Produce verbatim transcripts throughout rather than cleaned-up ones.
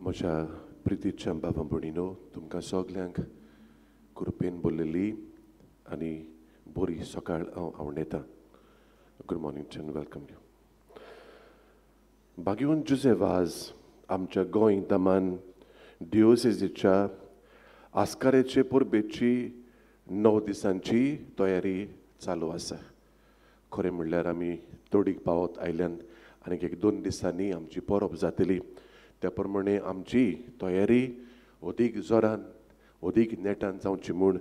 म्हज्या प्रितीच्या बाबा भयणीनो, तुमकां सगल्यांक कृपेन बोल्लेली आनी बरी सकाळ हांव आवडटा. Good morning and welcome you. भाग्यवंत जुझे वाज आमच्या गोंय दमन डिओसेजीच्या आस्कारेचे परबेची णव दिसांची तयारी चालू आसा. खरें म्हणल्यार आमी तोडीक पावत आयल्यान आनीक एक दोन दिसांनी आमची परब जातली. त्या प्रमाणे आमची तयारी अदीक जोरान अदीक नेटान जावची म्हूण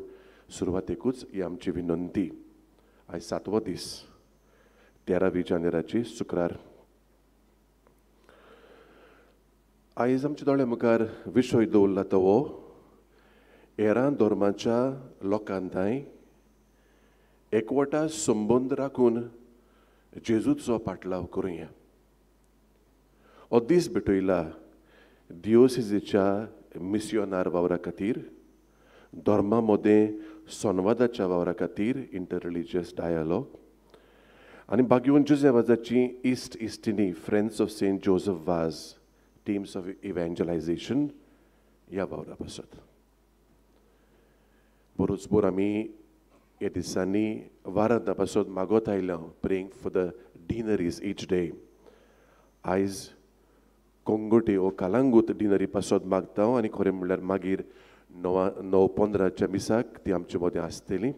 सुरवातेकूच ही आमची विनंती. आयज सातवो दीस, तेरावी जानेराची शुक्रार. आयज आमच्या दोळ्या मुखार विशय दवरला तो हो हेरां धर्माच्या लोकांताय एकवटा संबंद राखून जेजूचो पाटलाव करुया. हो दीस भेटयला दिओसेजीच्या मिसियोनार वावरा खातीर, धर्मा मदें संवादाच्या वावरा खातीर, इंटर रिलिजियस डायलॉग, आनी भाग्यवंत जुझे वाजाची इस्ट इस्टिनी friends of Saint Joseph Vaz teams of evangelisation ह्या वावरा पासत. बरोच बोर आमी ह्या दिसांनी वारांता पासत मागत आयल्या, praying for the deaneries each day. आयज कोंगोटे ओ कालांगूत डिनरी पासत मागता आनी खरें म्हणल्यार मागीर णवा णव पंदराच्या मिसाक ती आमचे मदें आसतली.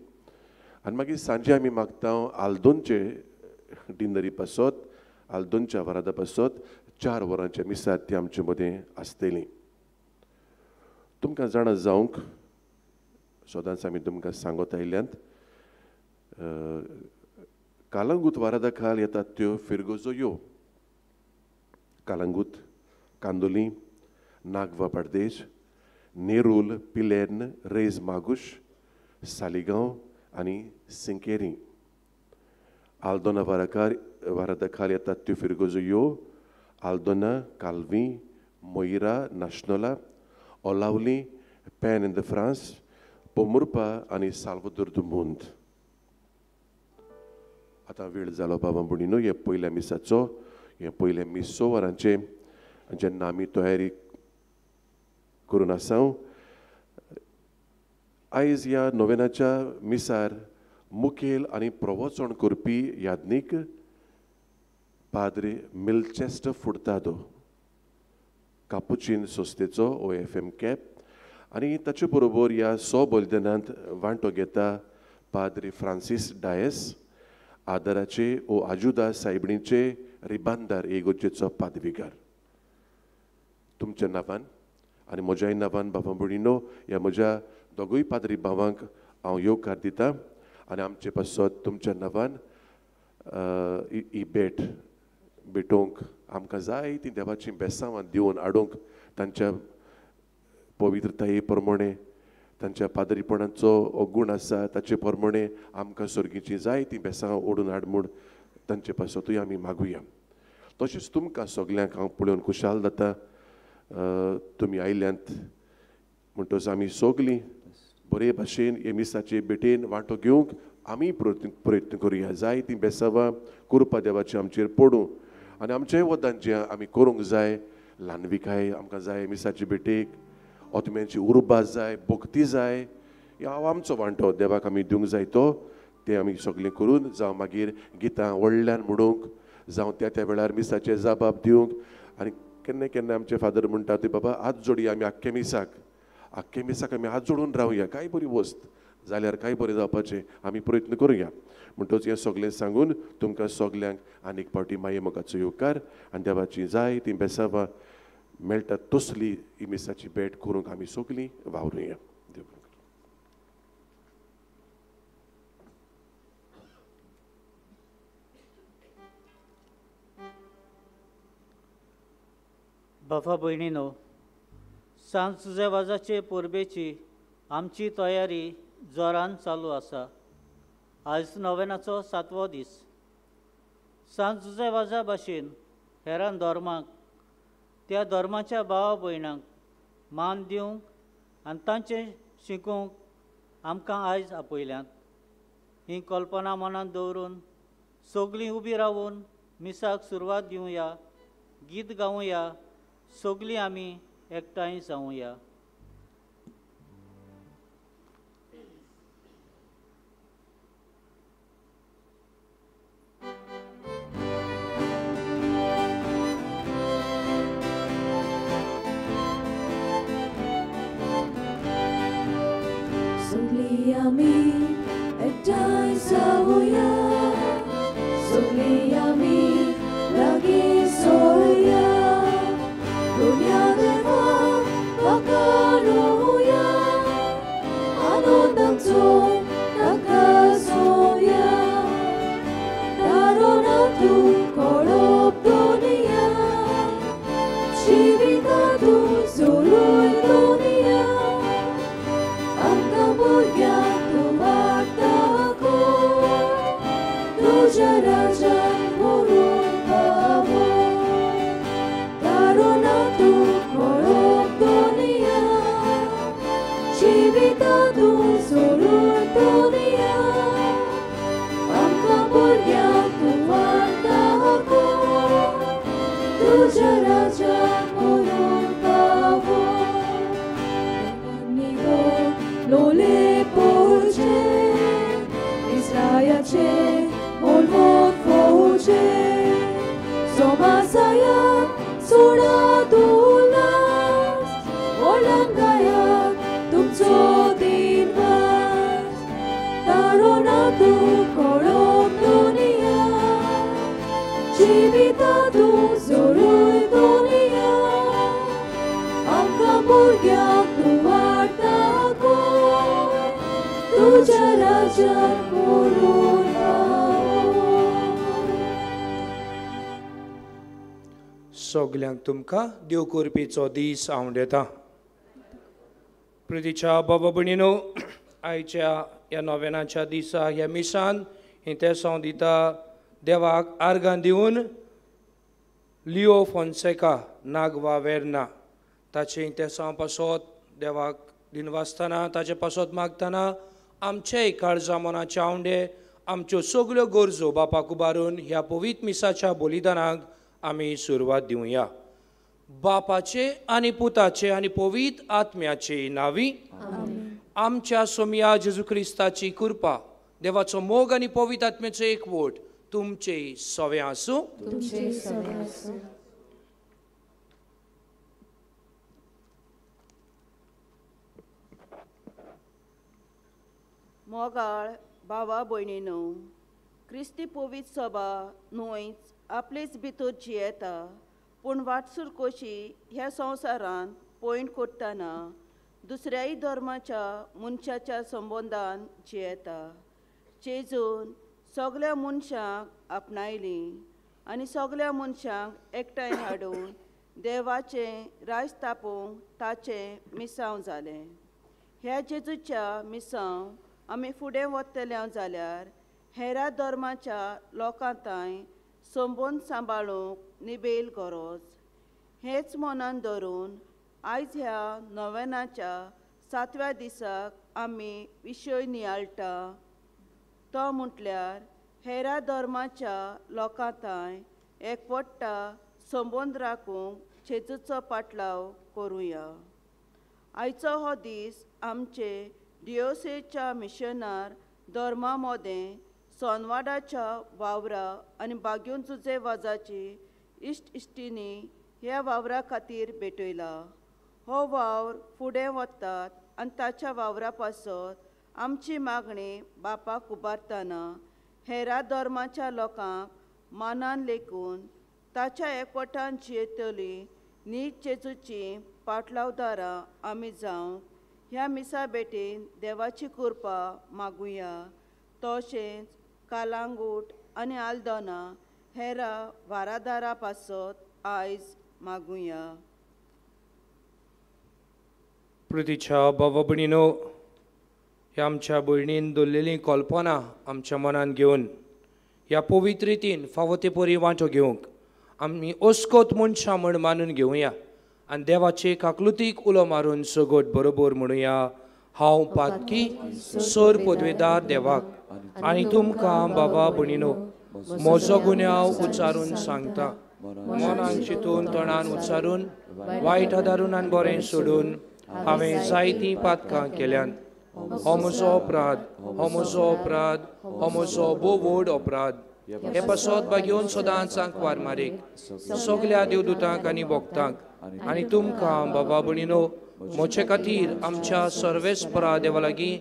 आनी मागीर सांजे आमी मागता आल्दोनचे डिनरी पासत, आल्दोनच्या वरादा पासत चार वरांच्या मिसाक ती आमचे मदें आसतली. तुमकां जाणा जावंक सदांच आमी तुमकां सांगत आयल्यांत, कालांगूत वारादा खाल येतात त्यो फिरगोजो यो कालांगूत, कांदोली, नागवा बार्देश, नेरूल, पिलेर्न, रेज मागुश, सालिगांव आनी सिंकेरी. आल्दोना वाराकार वारादा खाल येतात त्यो फिरगोजो यो आल्दोना, कालवी, मोयरा, नाशनोला, ओलावली, पॅन इन the France, Pomburpa आनी साल्वादोर दु मुंद. आतां वेळ जालो बाबा भयणीनो, हे पयल्या मिसाचो, हे पयल्या मीस स वरांचें जेन्ना आमी तयारी करून आसा. आयज ह्या नोवेनाच्या मिसार मुखेल आनी प्रवचन करपी याज्ञीक पाद्रे मिल्चेस्टर फुर्तादो, कापुचीन संस्थेचो ओ एफ एम कॅप, आनी ताचे बरोबर ह्या स बलिदानांत वांटो घेता पाद्रे फ्रांसीस डायस, आदराचे ओ आजुदा सायबणीचे रिबांदार एगोजेचो पादविगार. तुमच्या नांवान आनी म्हज्याय नांवान बाबा भयणीनो, ह्या म्हज्या दोगूय पाद्री भावांक हांव येवकार दिता आनी आमचे पासत तुमच्या नांवान ही भेट भेटोवंक आमकां जाय ती देवाची बेसांवां दिवन हाडूंक तांच्या पवित्रताये प्रमाणे, तांच्या पाद्रीपणाचो हो गूण आसा ताचे प्रमाणे आमकां सर्गीची जाय ती बेसांवां ओडून हाड म्हूण तांचे पासतूय आमी मागुया. तशेंच तुमकां सगल्यांक हांव पळोवन खुशाल जाता, तुमी आयल्यांत म्हणटच आमी सगलीं बरे भाशेन हे मिसाचे भेटेन वांटो घेवंक आमी प्रयत्न प्रयत्न करुया. जाय ती बेसांवां कृपा देवाची आमचेर पडूं आनी आमचेय वदान जें आमी करूंक जाय, ल्हानविकाय आमकां जाय मिसाचे भेटेक, आत्म्यांची उर्बा जाय, भक्ती जाय, ह्या आमचो वांटो देवाक आमी दिवंक जाय तो तें आमी सगळें करून, जावं मागीर गितां व्हडल्यान म्हणूंक, जावं त्या त्या वेळार मिसाचे जबाब दिवंक. आनी केन्ना केन्ना आमचे फादर म्हणटा ते, बाबा हात जोडया आमी आख्खे मिसाक, आख्खे मिसाक आमी हात जोडून रावया, कांय बरी वस्त जाल्यार कांय बरें जावपाचें आमी प्रयत्न करुया. म्हणटच हें सगळें सांगून तुमकां सगल्यांक आनीक फावटी माये मोगाचो येवकार आनी देवाची जाय ती बेसांवां मेळटा तसली ही मिसाची भेट करूंक आमी सगलीं वावरुया. देव बरें करूं. बाबा भयणीनो, सांत जुझे वाजाचे परबेची आमची तयारी जोरान चालू आसा. आयज नोवेनाचो सातवो दीस. सांत जुझे वाजा भाशेन हेरां धर्माक, त्या धर्माच्या भावा भयणांक मान दिवंक आनी तांचें शिकूंक आमकां आयज आपयल्यात. ही कल्पना मनांत दवरून सगळीं उबी रावून मिसाक सुरवात दिवया, गीत गावया. सगळीं आमी एकठांय जावया. सगळीं आमी एकठांय जावया, सगळीं आमी लागीं सोया, दुनिया देवाक वाखाणुया, आनंदाचो ताका सोया, दारोना तूं कळप दुनिया, जिविता तूं जोडून दुनिया, आमकां भुरग्यांक तूं वाडटा तुज्या राज्यान व्हरून पावो, दारोना तूं कळप दुनिया, जिविता तूं जोडून दुनिया, आमकां भुरग्यांक तूं वाडटा तुज्या राज्यान व्हरून पावो. लोले पोवचे इस्रायाचे होलवोन फोवचे, सोमासाया सोडा दुलास, व्हडल्यान गायात तुमचो दिनवास, तारोना तूं कळप दुनिया, जिविता तूं जोडून दुनिया, आमकां भुरग्यांक तूं वाडटा तुज्या राज्यान व्हरून पावो. सगल्यांक तुमकां देव करपीचो दीस आंवडेता. प्रितीच्या बाबा भयणीनो, आयच्या ह्या नोवेनाच्या दिसा ह्या मिसान इंतेसांव दिता देवाक आर्गां दिवन लिओ फोन्सेका नागवा वेर्ना ताचें इंतेसांव पासत देवाक दिनवासतना ताचे पासत मागतना आमचेय काळजा मनाचे आंवडे आमच्यो सगल्यो गरजो बापाक उबारून ह्या पवित्र मिसाच्या बलिदानाक आमी सुरवात दिवया. बापाचे आनी पुताचे आनी पवित्र आत्म्याचे नांवी आमच्या सोमया जेजू क्रिस्ताची कृपा, देवाचो मोग आनी पवित्र आत्म्याचो एकवट तुमचे सवे आसूं. मोगाळ भावा भयणीनो, क्रिस्ती पवित्र सभा न्हयच आपलेच भितर जियेता, पूण वाटसूर कशी ह्या संवसारांत पयण करतना दुसऱ्याय धर्माच्या मनशाच्या संबंदान जियेता. जेजून सगल्या मनशांक आपणायलीं आनी सगल्या मनशांक एकठांय हाडून देवाचें राज तापोवंक ताचें मिसांव जालें. ह्या जेजूच्या मिसांव आमी फुडें वतले जाल्यार हेरा धर्माच्या लोकां तांय संबंद सांबाळूंक निबेल गरज. हेंच मनान धरून आयज ह्या नोवेनाच्या सातव्या दिसाक आमी विशय नियाळटा तो म्हटल्यार हेरा धर्माच्या लोकां तांय एकवटा संबंद राखूंक जेजूचो पाटलाव करुया. आयचो हो दीस आमचे डिओसेच्या मिशनार धर्मा मदें सोनवाडाच्या वावरा आनी बाग्यून जुजे वाजाची इश्ट इश्टिनी ह्या वावरा खातीर भेटयला. हो वावर फुडें वतात आनी ताच्या वावरा पासत आमची मागणी बापाक उबारतना हेरा धर्माच्या लोकांक मानान लेखून ताच्या एकवटान जियेतली नीज जेजूची पाटलावदारां आमी जावंक ह्या मिसा भेटेन देवाची कृपा मागुया. तशेंच कालांगूट आनी आल्दोना हेरा वारादारा पासत आयज मागुया. प्रितीच्या बाबा भयणीनो, ह्या आमच्या भयणीन दवरलेलीं कल्पना आमच्या मनान घेवन ह्या पवित्र रितीन फावो ते परी वांटो घेवंक आमी अस्कोत मनशां म्हण मानून घेवया आनी देवाचे काकलुतीक उलो मारून सगट बरोबर म्हणुया, हांव पातकी सर पदवेदार देवाक आनी तुमकां बाबा भयणीनो म्हजो गुन्यांव उच्चारून सांगता. मनान चिंतून तोंडान उच्चारून वायट आदारून आनी बरें सोडून हांवें जायतीं पातकां केल्यात. हो म्हजो अपराध, हो म्हजो अपराध, हो म्हजो भोव व्हड अपराध. हे पासत बागेवन सदांच आंकवार मारीक सगल्या देवदूतांक आनी भक्तांक आनी तुमकां बाबा भयणीनो म्हजे खातीर आमच्या सर्वेस्परा देवा लागीं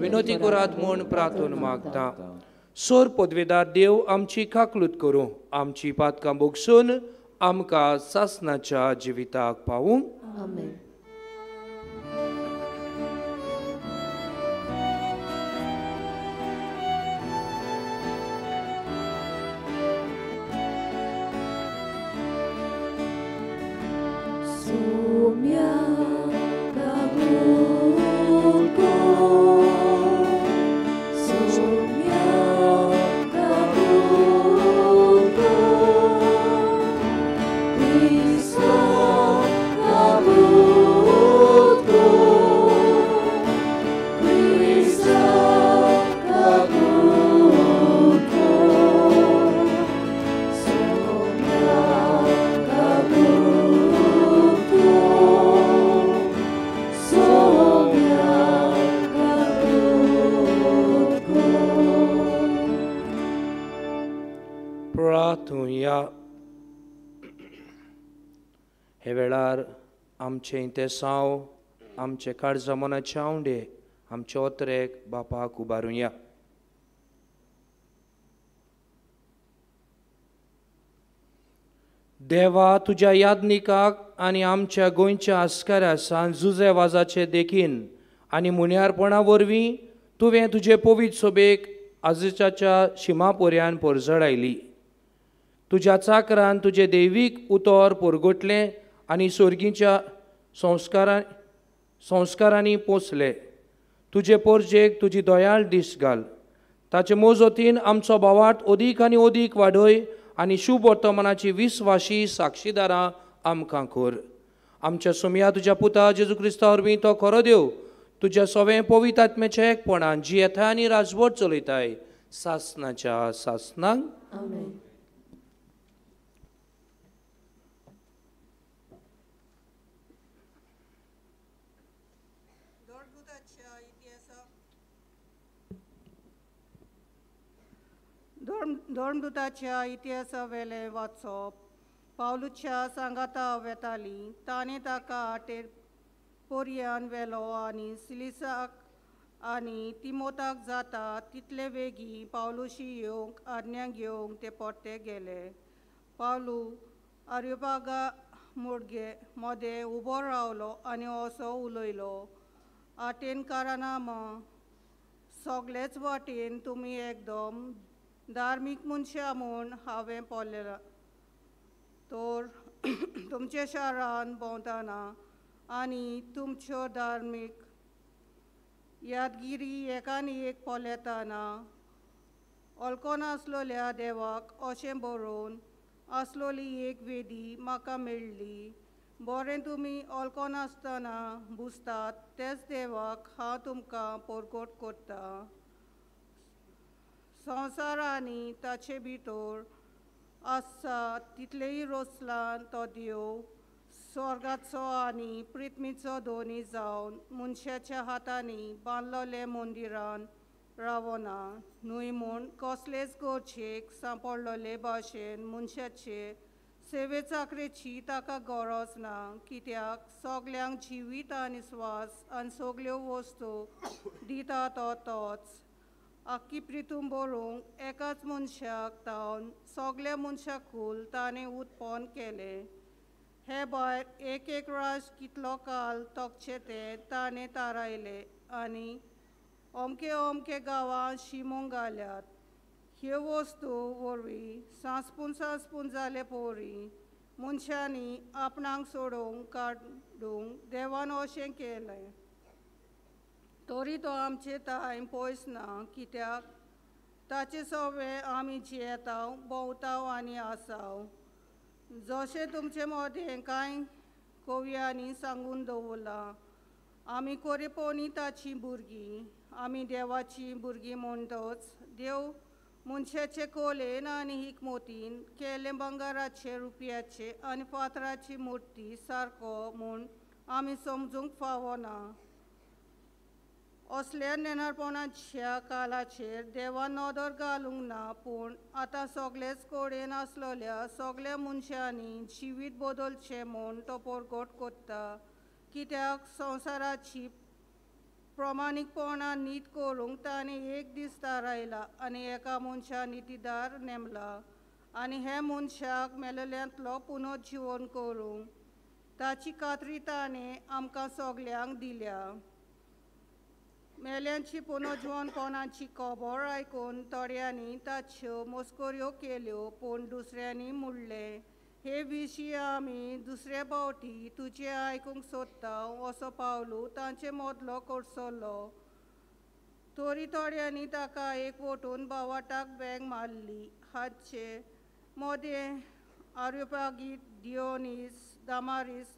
विनोती करात म्हूण प्रार्थना मागता. सोर पदवेदार देव आमची काकलूत करूं, आमची पातकां भोगसून आमकां सासनाच्या जिविताक पावूं. आमेन. हे वेळार आमचें तेसांव, आमचे काळजा मनाचे आवंडे, आमचे ओतरेक बापाक उबारुया. देवा, तुज्या यादनिकाक आनी आमच्या गोंयच्या आस्काऱ्या सान जुजे वाजाचे देखीन आनी मुन्यारपणा वरवीं तुवें तुजे पवित्र सोबेक आजच्या शिमा पर्यान परजळायली. तुज्या चाकरान तुजें दैवीक उतर परगटलें आनी सोर्गीच्या संस्कारा संस्कारांनी पोसले. तुजे पोरजेक तुजी दयाळ दीस घाल. ताचे मोजोतीन आमचो भावार्थ अदीक आनी अदीक वाडय आनी शुभ वर्तमानाची विस्वाशी साक्षीदारां आमकां कर. आमच्या सोमया तुज्या पुता जेजू क्रिस्ता वरवीं तो खरो देव तुज्या सवें पवित्र आत्म्याच्या एकपणान जियेताय आनी राजवट चलयताय सासनाच्या सासनाक. आमेन. धर्मदूताच्या इतिहासावेलें वाचप. पावलूच्या सांगाता वेताली ताणें ताका आटेर पोरयान व्हेलो आनी सिलिसाक आनी तिमोताक जाता तितले वेगीं पावलूशी येवंक आज्ञा घेवंक ते परते गेले. पावलू आर्योपागा मोडगे मदें उबो रावलो आनी असो उलयलो, आटेनकारां सगळेच वाटेन तुमी एकदम धार्मीक मनशां म्हूण हांवें पळयलां. तर तुमच्या शारान भोंवतना आनी तुमच्यो धार्मीक यादगिरी एकान एक पळयतना वळखून आसलेल्या देवाक अशें बरोवन आसलेली एक वेदी म्हाका मेळ्ळी. बरें तुमी वळखून आसतना बुजतात तेच देवाक हांव तुमकां परगट करता. संवसार आनी ताचे भितर आसा तितलेय रोसलान तो देव स्वर्गाचो आनी पृथ्वीचो दोनी जावन मनशाच्या हातांनी बांदलेले मंदिरान रावना न्हय म्हूण कसलेच गरजेक सांपडलेले भाशेन मनशाचे सेवे चाकरेची ताका गरज ना, कित्याक सगल्यांक जिवीत आनी स्वास आनी सगल्यो वस्तू दिता तो तोच. आख्खी प्रितूम बरोवंक एकाच मनशाक तावन सगल्या मनशाकूल ताणें उत्पन्न केलें. हे भायर एक एक राष्ट्र कितलो काल तोखचें तें ताणें थारायलें आनी अमके अमके गांवां शिमोंक घाल्यात. ह्यो वस्तू वरवीं सांसपून सांसपून जाले पोरी मनशांनी आपणाक सोडोवंक काडूंक देवान अशें केलें. तरी तो आमचे ताय पयस ना, कित्याक ताचे सवे आमी जियेताव भोंवताव आनी आसाव. जशें तुमचे मदें कांय कवयांनी सांगून दवरलां, आमी कोरेपोनी ताचीं भुरगीं, आमी देवाचीं भुरगीं म्हणटच देव मनशाचे कोलेन आनी हिकमतीन केल्ले भांगराचे रुपयाचे आनी फातराची मुर्ती सारको म्हूण आमी समजूंक फावना. असल्या नेणारपणाच्या काळाचेर देवान नदर घालूंक ना, पूण आतां सगळेच कडेन आसलेल्या सगळ्या मनशांनी जिवीत बदलचें म्हूण तो परगट करता. कित्याक संवसाराची प्रमाणीकपणान नीत करूंक ताणें एक दीस थारायला आनी एका मनशा नितीदार नेमला आनी हे मनशाक मेलेल्यांतलो पुनर्जिवन करूंक ताची खात्री ताणें आमकां सगल्यांक दिल्या. मेल्यांची पुनर्जिवनपणाची खबर आयकून थोड्यांनी ताच्यो मस्कऱ्यो केल्यो, पूण दुसऱ्यांनी म्हणलें, हे विशीं आमी दुसरे फावटी तुजें आयकूंक सोदता असो पावलू तांचे मदलो कडसरलो. तरी थोड्यांनी ताका एक वटून बावाटाक बँग मारली. हाचे मदें आर्योपागीत डियोनीस दामारीस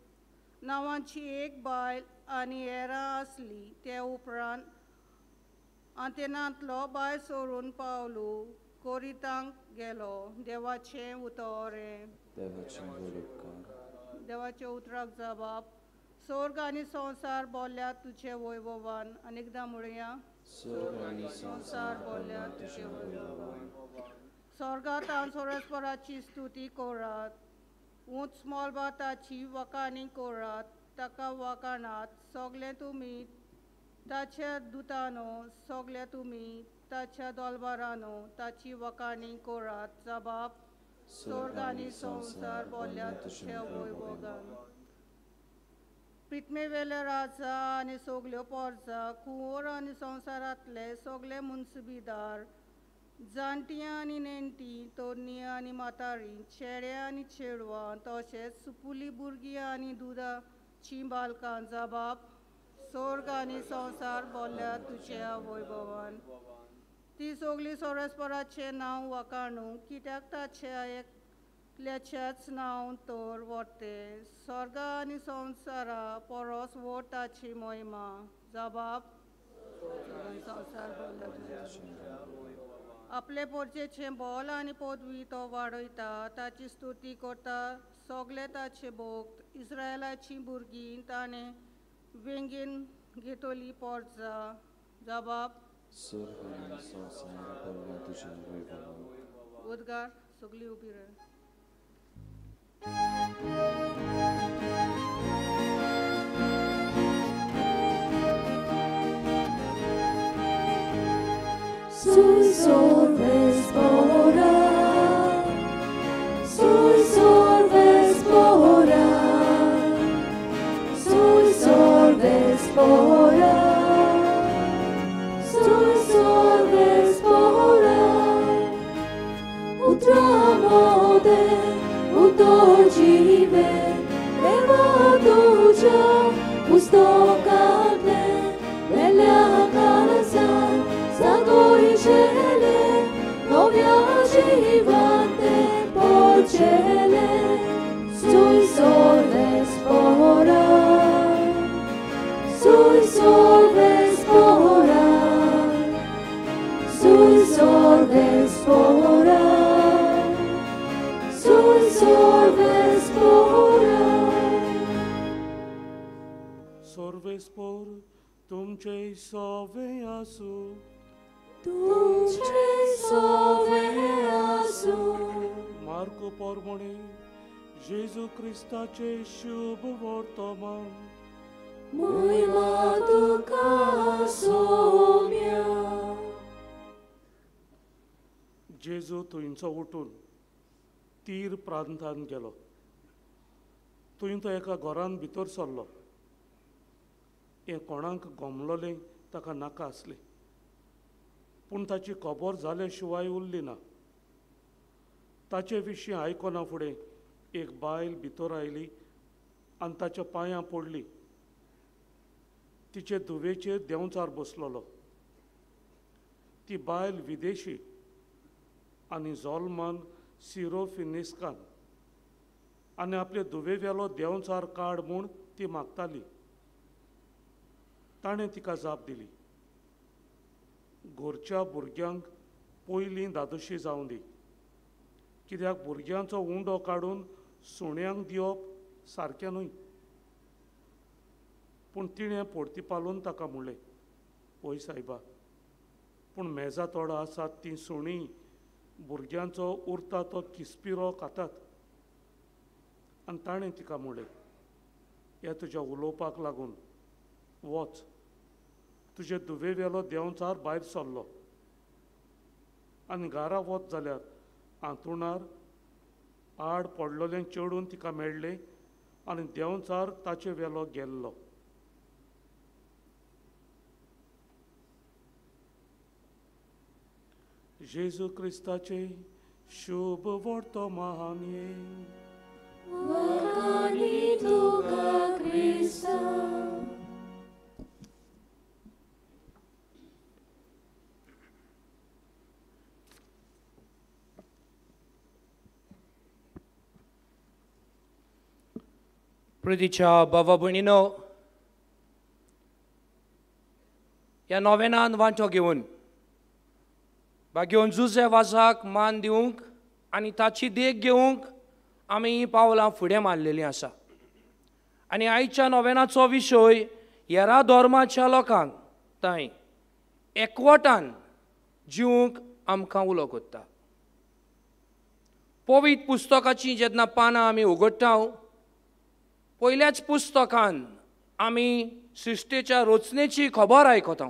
नांवाची एक बायल आनी हेरां आसली. ते उपरांत आंतेनांतलो बायल सोडून पावलू कोरितांक गेलो. देवाचें उतर. देवाच्या उतराक जबाब. स्वर्ग आनी संवसार बोल्ल्या तुजे वैभवान. अनेकदां म्हणया, संवसार बोल्ल्या तुजे वैभवान. स्वर्गांत परस्पराची स्तुती करात, उंच मळबाताची वखाणी करात, ताका वखाणात सगळे तुमी ताच्या दुतानो, सगळे तुमी ताच्या दलबारानो ताची वखाणी करात. जबाब. स्वर्ग आनी संवसार बोल्ल्या तुज्या वैभोगान. पृथ्वीवेले राजा आनी सगल्यो पोरजा, कुंवर आनी संवसारांतले सगळे मुन्सबीदार, जाणटीं आनी नेणटीं, तरणी आनी म्हातारी, चेडे आनी चेडवां, तशेंच सुपुली भुरगीं आनी दुदाचीं बालकां. जबाब. स्वर्ग आनी संवसार बोल्ल्या तुज्या वैभवान. ती सगळीं परस्पराचें नांव वखाणू, कित्याक ताच्या एकल्याच्याच नांव तर व्हरतें. स्वर्ग आनी संवसारा परस व्हड ताची महिमा. जबाब. संवसार बोल्ल्या. आपले पोरचेचें बोल आनी पदवी तो वाडयता, ताची स्तुती करता सगळे ताचे भक्त. इस्रायलाचीं भुरगीं ताणें वेंगेन घेतली पोरजा. जबाब. उद्गार. सगळीं उबी राव. Sui sorves pora, sui sorves pora, sui sorves pora, sui sorves pora. Utramode, utorjive, deva tuja, pustokate, velia kalasa. Sagoicele, novia jivante porcele, sui sorves pora, sui sorves pora, sui sorves pora, sui sorves pora. Sorves por तुमचे सोवे आसू, तुमचे सोवे आसू. Marco पोरमणे जेजू क्रिस्ताचे शुभ वर्तमान. महिमा तुका सोम्या. जेजू थंयचो उठून तीर प्रांतांत गेलो. थंय तो एका घरांत भितर सरलो. हें कोणाक गोमलोलें ताका नाका आसलें, पूण ताची खबर जाले शिवाय उरली ना. ताचे विशीं आयकना फुडें एक बायल भितर आयली आनी ताच्या पांयां पडली. तिचे धुवेचेर देंवचार बसलोलो. ती बायल विदेशी आनी जोलमान सिरोफिनिस्कान आनी आपले धुवेवेलो देंवचार काड म्हूण ती मागताली. ताणें तिका जाप दिली, घरच्या भुरग्यांक पयलीं धादोशी जावं दी, कित्याक भुरग्यांचो उंडो काडून सुण्यांक दिवप सारकें न्हय. पूण तिणें पोर्तिपालून ताका म्हणलें, वय सायबा, पूण मेजा तोडा आसात तीं सुणीं भुरग्यांचो उरता तो किस्पिरो खातात. आनी ताणें तिका म्हणलें, ह्या तुज्या उलोवपाक लागून वच, तुजे दुवे वेलो देंवचार भायर सरलो. आनी घरा वच जाल्यार आंतुणार आड पडलोलें चेडून तिका मेळ्ळें आनी देंवचार ताचे वेलो गेल्लो. जेजू क्रिस्ताचे शुभ वर्तमान. वखाणी तुका क्रिस्ता. प्रितीच्या बाबा भयणीनो, ह्या नोवेनान वांटो घेवन भाग्योन जुजे वाजाक मान दिवंक आनी ताची देख घेवंक आमी हीं पावलां फुडें मारलेलीं आसा. आनी आयच्या नोवेनाचो विशय हेरा धर्माच्या लोकांक तांय एकवटान जिवंक आमकां उलो करता. पवित्र पुस्तकाचीं जेन्ना पानां आमी उगडटा, पयल्याच पुस्तकान आमी सृश्टेच्या रचनेची खबर आयकता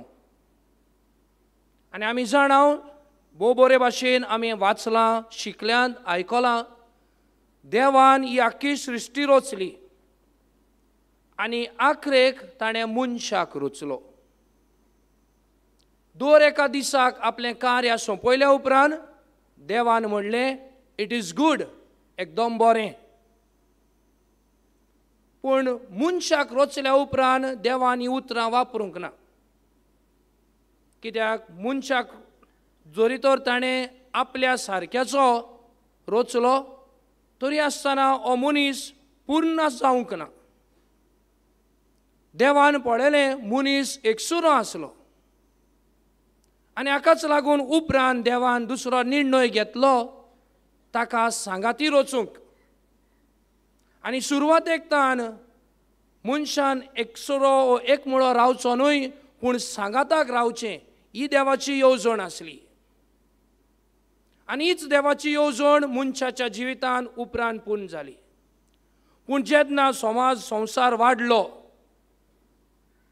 आनी आमी जाणा भोव बरे भाशेन आमी वाचलां, शिकल्यान, आयकलां, देवान ही आख्खी सृश्टी रचली आनी आखरेक ताणें मनशाक रचलो. दर एका दिसाक आपलें कार्य सोंपयल्या उपरांत देवान म्हणलें, it is good, एकदम बरें. पूण मनशाक रचल्या उपरांत देवान ही उतरां वापरूंक ना, कित्याक मनशाक जरी तर ताणें आपल्या सारक्याचो रचलो तरी आसतना हो मनीस पूर्ण जावंक ना. देवान पळयलें मनीस एकसुरो आसलो आनी हाकाच लागून उपरांत देवान दुसरो निर्णय घेतलो ताका सांगाती रचूंक. आनी सुरवातेक तान मनशान एकसुरो एकमुळो रावचो न्हय, पूण सांगाताक रावचें ही देवाची येवजण आसली. आनी हीच देवाची येवजण मनशाच्या जिवितान उपरांत पूर्ण जाली. पूण जेन्ना समाज संवसार वाडलो,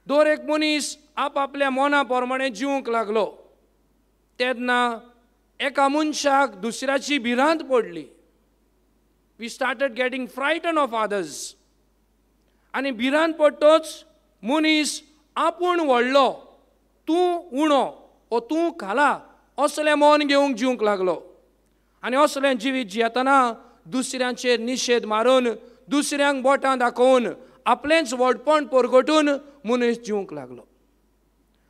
दर एक मनीस आपआपल्या मना प्रमाणे जिवंक लागलो, तेन्ना एका मनशाक दुसऱ्याची भिरांत पडली. We started getting frighten of others. आनी भिरांत पडटच मनीस आपूण व्हडलो, तूं उणो ओ तूं खाला असलें मन घेवंक जिवंक लागलो. आनी असलें जिवीत जियेतना दुसऱ्यांचेर निशेध मारून, दुसऱ्यांक बोटां दाखोवन, आपलेंच व्हडपण परगटून मनीस जिवंक लागलो.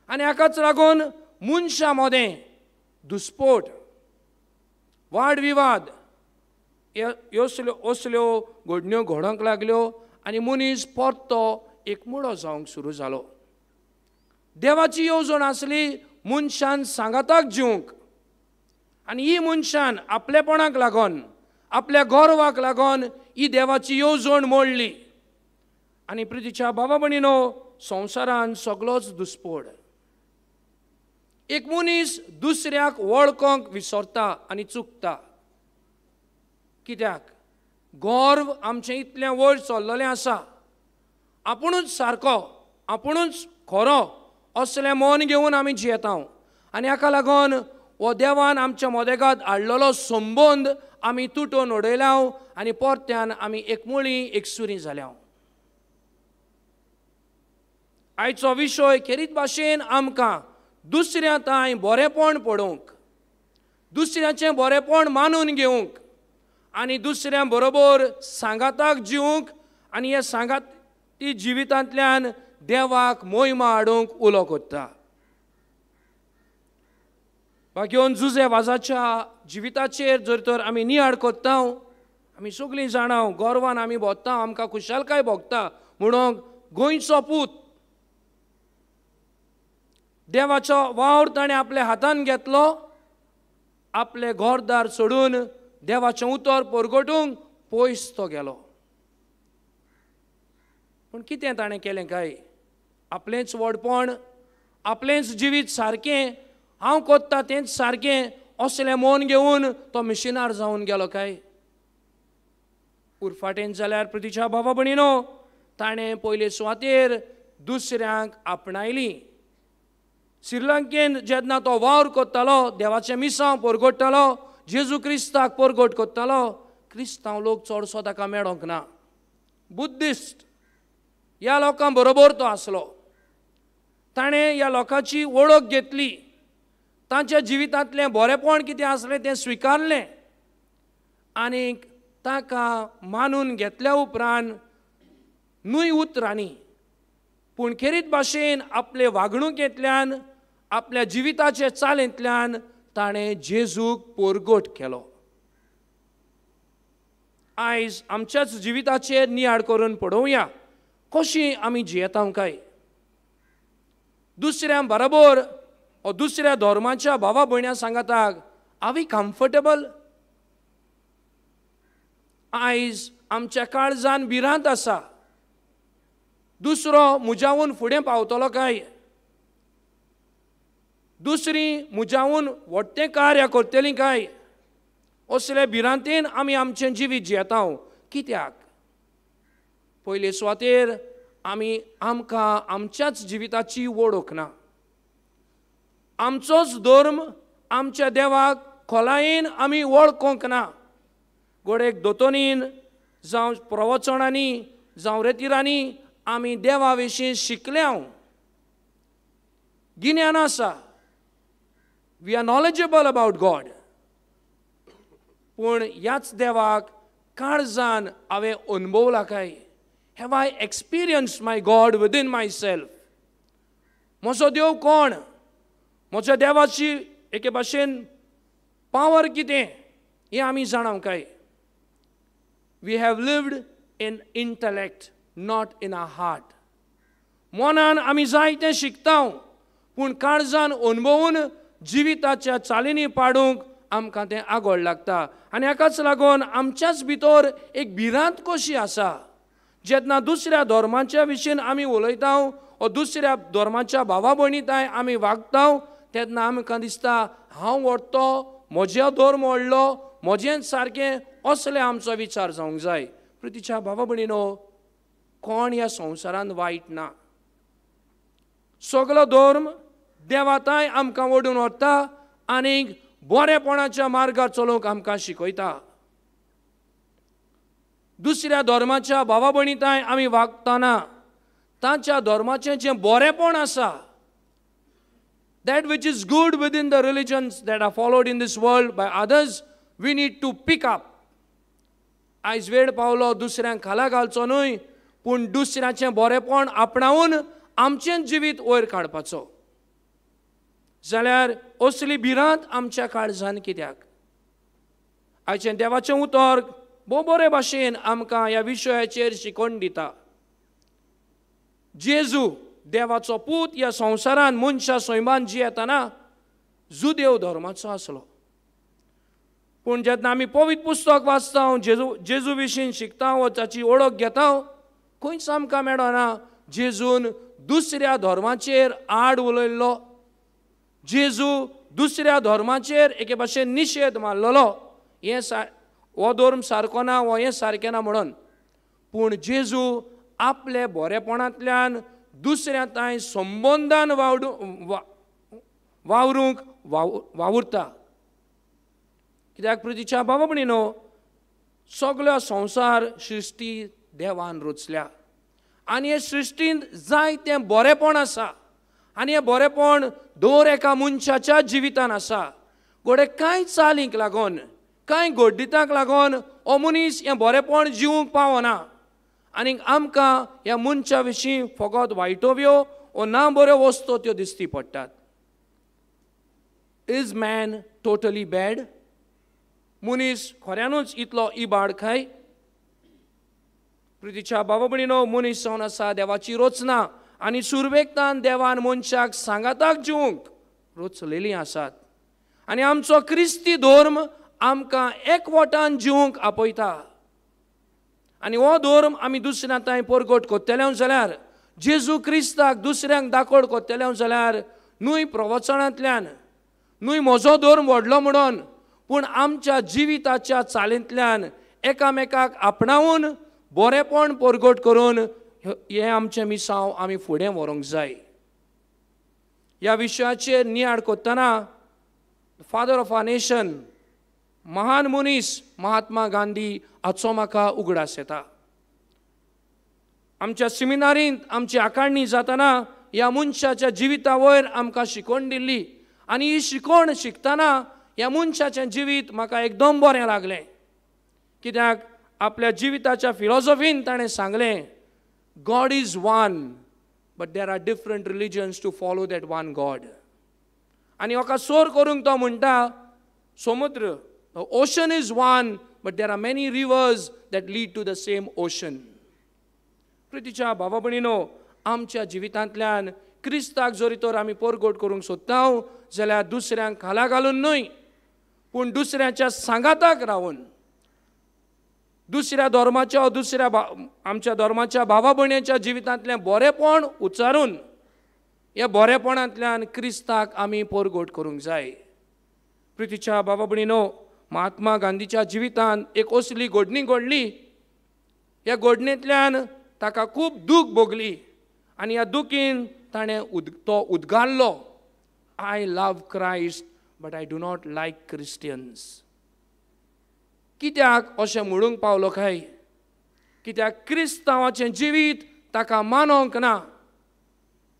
आनी हाकाच लागून मनशां मदें दुस्पोट, वादविवाद ह्यो असल्यो घडण्यो घडोवंक लागल्यो आनी मनीस परतो एकमुळो जावंक सुरू जालो. देवाची येवजण आसली मनशान सांगाताक जिवंक, आनी ही मनशान आपलेपणाक लागून, आपल्या गर्वाक लागून ही देवाची येवजण मोडली. आनी प्रितीच्या बाबा भयणीनो, संवसारान सगळोच दुस्पोड. एक मनीस दुसऱ्याक वळखोंक विसरता आनी चुकता, कित्याक गर्व आमचें इतलें वयर चल्लेलें आसा, आपुणूच सारको, आपुणूच खरो असलें मन घेवन आमी जियेता. आनी हाका लागून हो देवान आमच्या मदेगात हाडलेलो संबंद आमी तुटोवन उडयल्या आनी परत्यान आमी एकमुळी एकसुरी जाल्या. आयचो विशय खेरीत भाशेन आमकां दुसऱ्या तांय बरेंपण पडोवंक, दुसऱ्याचें बरेंपण मानून घेवंक आनी दुसऱ्या बरोबर सांगाताक जिवंक आनी ह्या सांगाती जिवितांतल्यान देवाक मोहिमा हाडूंक उलो करता. बाकी जुजे वाजाच्या जिविताचेर जर तर आमी नियाळ करता, आमी सगळीं जाणां गर्वान आमी भोगता, आमकां खुशालकाय भोगता म्हणून गोंयचो पूत देवाचो वावर ताणें आपल्या हातान घेतलो आपले घरदार सोडून देवाचें उतर परगटूंक पयस तो गेलो. पूण कितें ताणें केलें काय? आपलेंच व्हडपण, आपलेंच जिवीत सारकें, हांव कोत्ता तेंच सारकें असलें मन घेवन तो मिशिनार जावन गेलो काय? उरफाटेन जाल्यार प्रतिच्या भावा भयणीनो, ताणें पयले सुवातेर दुसऱ्यांक आपणायली. श्रीलंकेन जेन्ना तो वावर करतालो, देवाचें मिसांव परगट्टालो, जेजू क्रिस्ताक परगट करतालो, क्रिस्तांव लोक चडसो ताका मेळोंक ना. बुद्धिस्ट ह्या लोकां बरोबर तो आसलो. ताणें ह्या लोकांची वळख घेतली, तांच्या जिवितांतलें बरेपण कितें आसलें तें स्विकारलें आनी ताका मानून घेतल्या उपरांत न्हय उतरांनी पूण खेरीत भाशेन आपले वागणुकेंतल्यान, आपल्या जिविताचे चालींतल्यान ताणें जेजूक परगट केलो. आयज आमच्याच जिविताचेर नियाळ करून पळोवया कशी आमी जियेता काय. दुसऱ्या बरोबर ओ दुसऱ्या धर्माच्या भावा भयण्यां सांगाताक आर we comfortable? आयज आमच्या काळजान भिरांत आसा, दुसरो मुजावून फुडें पावतलो काय, दुसरी मुजावून व्हडटें कार्य करतली काय, असले भिरांतेन आमी आमचें जिवीत जियेता. कित्याक? पयले सुवातेर आमी आमकां आमच्याच जिविताची वळख ना. आमचोच धर्म, आमच्या देवाक खोलायेन आमी वळखूंक ना. गोडेक दोतोनीन जावं प्रवचनांनी जावं रेतिरांनी आमी देवा विशीं शिकल्या, गिन्यान आसा, we are knowledgeable about God. पूण ह्याच देवाक काळजान हांवें अणभवला काय? Have I experience my God within myself? म्हजो देव कोण? म्हज्या देवाची एके भाशेन पावर कितें हें आमी जाणा काय? We have lived in intellect, not in our heart. मनान आमी जायतें शिकता पूण काळजान अणभवून जिविताच्या चालींनी पाडूंक आमकां तें आगोळ लागता. आनी हाकाच लागून आमच्याच भितर एक भिरांत कशी आसा. जेन्ना दुसऱ्या धर्माच्या विशीं आमी उलयता वो दुसऱ्या धर्माच्या भावा भयणी ताय आमी वागता तेन्ना आमकां दिसता हांव व्हडतो, म्हजो धर्म व्हडलो, म्हजेंच सारकें, असले आमचो विचार जावंक जाय. प्रितीच्या भावा भयणीनो, कोण ह्या संवसारांत वायट ना. सगलो धर्म देवाताय आमकां ओडून व्हरता आनी बरेपणाच्या मार्गार चलोवंक आमकां शिकयता. दुसऱ्या धर्माच्या भावा भयणी ताय आमी वागतना तांच्या धर्माचें जें बरेपण आसा, that which is good within the religions that are followed in this world by others, we need to pick up. आयज वेळ पावलो दुसऱ्यांक खाला घालचो न्हय, पूण दुसऱ्याचें बरेपण आपणावन आमचें जिवीत वयर काडपाचो. जाल्यार असली भिरांत आमच्या काळजान कित्याक? आयचें देवाचें उतर भोव बरे भाशेन आमकां ह्या विशयाचेर शिकोवन दिता. जेजू देवाचो पूत ह्या संवसारान मनशा सैमान जियेतना जुदेव धर्माचो आसलो. पूण जेन्ना आमी पवित्र पुस्तक वाचता, जेजू जेजू विशीं शिकता वो ताची वळख घेता, खंयच आमकां मेळना जेजून दुसऱ्या धर्माचेर आड उलयल्लो, जेजू दुसऱ्या धर्माचेर एके भाशेन निशेध मारलेलो, हें सा हो धर्म सारको ना, हो हें सारकें ना म्हणून. पूण जेजू आपले बरेपणांतल्यान दुसऱ्या तांय संबंदान वावडू वावरूंक वाव वावुरता. कित्याक प्रितीच्या बाबा भयणीनो, सगळो संवसार सृश्टी देवान रचल्या आनी हे सृश्टींत जाय तें बरेपण आसा आनी हें बरेपण दर एका मनशाच्या जिवितान आसा. घडये कांय चालींक लागून, कांय घडणुकांक लागून हो मनीस हें बरेपण जिवूंक पावना आनी आमकां ह्या मनशा विशीं फकत वायटोव्यो वो ना बऱ्यो वस्तू त्यो दिसती पडटात. Is man totally bad? मनीस खऱ्यानूच इतलो इबाड काय? प्रितीच्या बाबा भयणीनो, मनीस जावन आसा देवाची रचना आनी सुरवेकतान देवान मनशाक सांगाताक जिवूंक रचलेलीं आसात आनी आमचो क्रिस्ती धर्म आमकां एकवटान जिवंक आपयता आनी हो धर्म आमी दुसऱ्या तांय परगट कोत्तले जाल्यार, जेजू क्रिस्ताक दुसऱ्यांक दाखोड कोत्तले जाल्यार न्हय प्रवचनांतल्यान, न्हय म्हजो धर्म व्हडलो म्हणून, पूण आमच्या जिविताच्या चालींतल्यान एकामेकाक आपणावन बरेपण परगट करून हें आमचें मिसांव आमी फुडें व्हरूंक जाय. ह्या विशयाचेर नियाळ करतना फादर ऑफ our nation, महान मनीस महात्मा गांधी हाचो म्हाका उगडास येता. आमच्या सिमिनारींत आमची आकाडणी जातना ह्या मनशाच्या जिविता वयर आमकां शिकवण दिल्ली आनी ही शिकवण शिकतना ह्या मनशाचें जिवीत म्हाका एकदम बरें लागलें. कित्याक आपल्या जिविताच्या फिलॉसॉफीन ताणें सांगलें, God is one but there are different religions to follow that one God. आनी म्हाका सोर करूंक तो म्हणटा, समुद्र, ocean is one but there are many rivers that lead to the same ocean. प्रितीच्या भावा भयणीनो, आमच्या जिवितांतल्यान क्रिस्ताक जरी तर आमी परगट करूंक सोदता जाल्यार दुसऱ्यांक खाला घालून न्हय, पूण दुसऱ्याच्या सांगाताक रावन, दुसऱ्या धर्माच्या दुसऱ्या आमच्या धर्माच्या भावा भयणीच्या जिवितांतलें बरेपण उच्चारून ह्या बरेपणांतल्यान क्रिस्ताक आमी परगट करूंक जाय. प्रितीच्या भावा भयणीनो, महात्मा गांधीच्या जिवितांत एक असली घडणी घडली. ह्या घडणेंतल्यान ताका खूब दूख भोगली आनी ह्या दुखीन ताणें उद तो उद्गारलो, I love Christ but I do not like Christians. कित्याक अशें म्हणूंक पावलो काय? कित्याक क्रिस्तांवाचें जिवीत ताका मानोंक ना,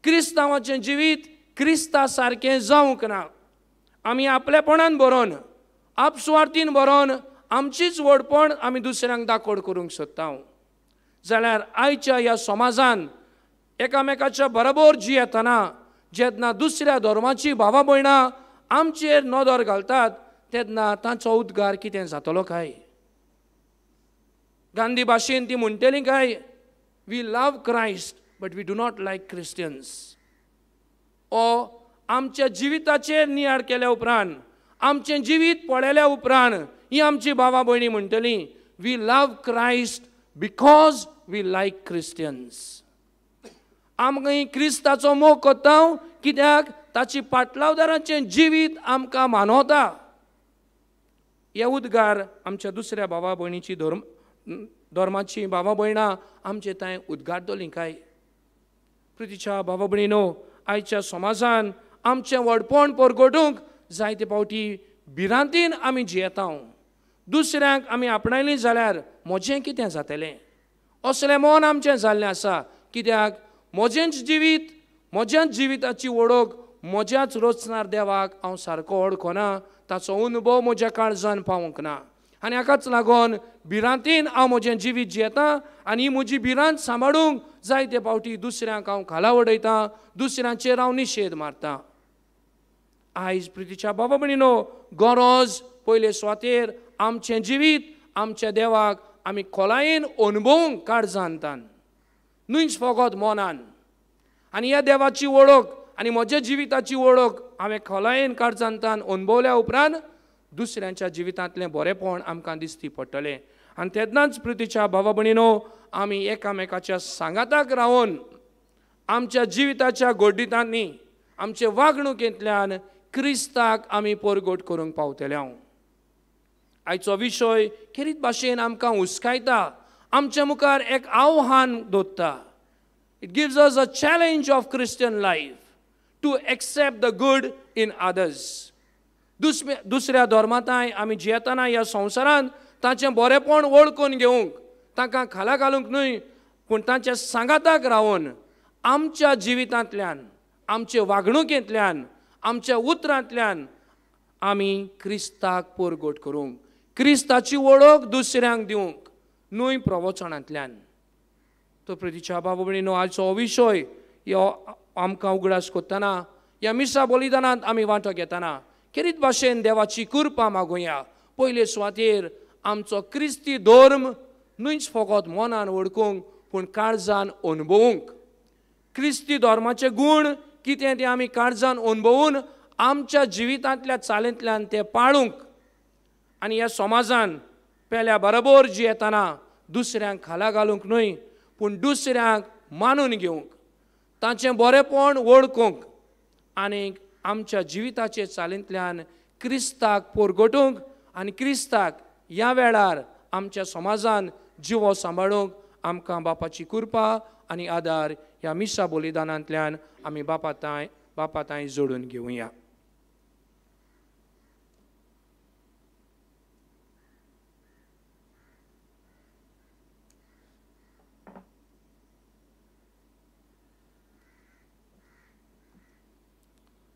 क्रिस्तांवाचें जिवीत क्रिस्ता सारकें जावंक ना. आमी आपलेपणान बरोवन, आपसुवार्थीन बरोवन आमचीच व्हडपण आमी दुसऱ्यांक दाखोड करूंक सोदता. जाल्यार आयच्या ह्या समाजान एकामेकाच्या बरोबर जियेतना जेन्ना दुसऱ्या धर्माची भावा भयणां आमचेर नदर घालतात तेन्ना तांचो उद्गार कितें जातलो काय? गांधी भाशेन ती म्हणटली काय, we love Christ but we do not like Christians. ओ आमच्या जिविताचेर नियाळ केल्या उपरांत, आमचें जिवीत पळयल्या उपरांत ही आमची भावा भयणी म्हणटली, we love Christ because we like Christians. आमकां क्रिस्ताचो मोग करता कित्याक ताची पाटलावदारांचें जिवीत आमकां मानवता. हे उद्गार आमच्या दुसऱ्या भावा भयणीची धर्म धर्माची भावा भयणां आमचे थंय उद्गारतलीं काय? प्रितीच्या भावा भयणीनो, आयच्या समाजान आमचें व्हडपण परगटूंक जायते फावटी भिरांतीन आमी जियेता. दुसऱ्यांक आमी आपणायलीं जाल्यार म्हजें कितें जातलें असलें मन आमचें जाल्लें आसा. कित्याक म्हजेंच जिवीत, म्हज्याच जिविताची वळख म्हज्याच रचणार देवाक हांव सारको वळखना, ताचो अनुभव म्हज्या काळजान पावूंक ना आनी हाकाच लागून भिरांतीन हांव म्हजें जिवीत जियेता आनी ही म्हजी भिरांत सांबाळूंक जायते फावटी दुसऱ्यांक हांव खाला उडयता, दुसऱ्यांचेर हांव निशेध मारता. आयज प्रितीच्या बाबा भयणीनो, गरज पयले सुवातेर आमचें जिवीत आमच्या देवाक आमी खोलायेन अनुभवूंक काळजान तान, न्हूच फकत मनान. आनी ह्या देवाची वळख आनी म्हज्या जिविताची वळख हांवें खोलायेन काळजान तान अनुभवल्या उपरांत दुसऱ्यांच्या जिवितांतलें बरेपण आमकां दिसती पडटलें. आनी तेन्नाच प्रितीच्या भावा भयणीनो, आमी एकामेकाच्या सांगाताक रावन आमच्या जिविताच्या गोड्डितांनी, आमचे वागणुकेंतल्यान क्रिस्ताक आमी परगट करूंक पावतले. हांव आयचो विशय खेरीत भाशेन आमकां हुस्कायता, आमच्या मुखार एक आव्हान दवरता. It gives us a challenge of Christian life to accept the good in others. दुसऱ्या दुसऱ्या धर्मांताय आमी जियेतना ह्या संवसारांत तांचें बरेपण वळखून घेवंक, तांकां खाला घालूंक न्हय, पूण तांच्या सांगाताक रावन आमच्या जिवितांतल्यान, आमचे वागणुकेंतल्यान, आमच्या उतरांतल्यान आमी क्रिस्ताक परगट करूंक, क्रिस्ताची वळख दुसऱ्यांक दिवंक, न्हय प्रवचनांतल्यान. तो प्रितीच्या बाबा भयणीनो, आयचो हो विशय ह्यो आमकां उगडास करतना, ह्या मिसा बलिदानांत आमी वांटो घेतना खेरीत भाशेन देवाची कृपा मागुया. पयले सुवातेर आमचो क्रिस्ती धर्म न्हूच फकत मनान वळखूंक, पूण काळजान अनुभवूंक. क्रिस्ती धर्माचे गूण कितें ते आमी काळजान अनुभवून आमच्या जिवितांतल्या चालींतल्यान ते पाळूंक आनी ह्या समाजान पेल्या बरोबर जियेतना दुसऱ्यांक खाला घालूंक न्हय पूण दुसऱ्यांक मानून घेवंक, तांचें बरेंपण वळखूंक आनी आमच्या जिविताचे चालींतल्यान क्रिस्ताक पोरगटूंक आनी क्रिस्ताक ह्या वेळार आमच्या समाजान जिवो सांबाळूंक आमकां बापाची कृपा आनी आदार ह्या मिसा बलिदानांतल्यान आमी बापा तांय बापा तांय जोडून घेवया.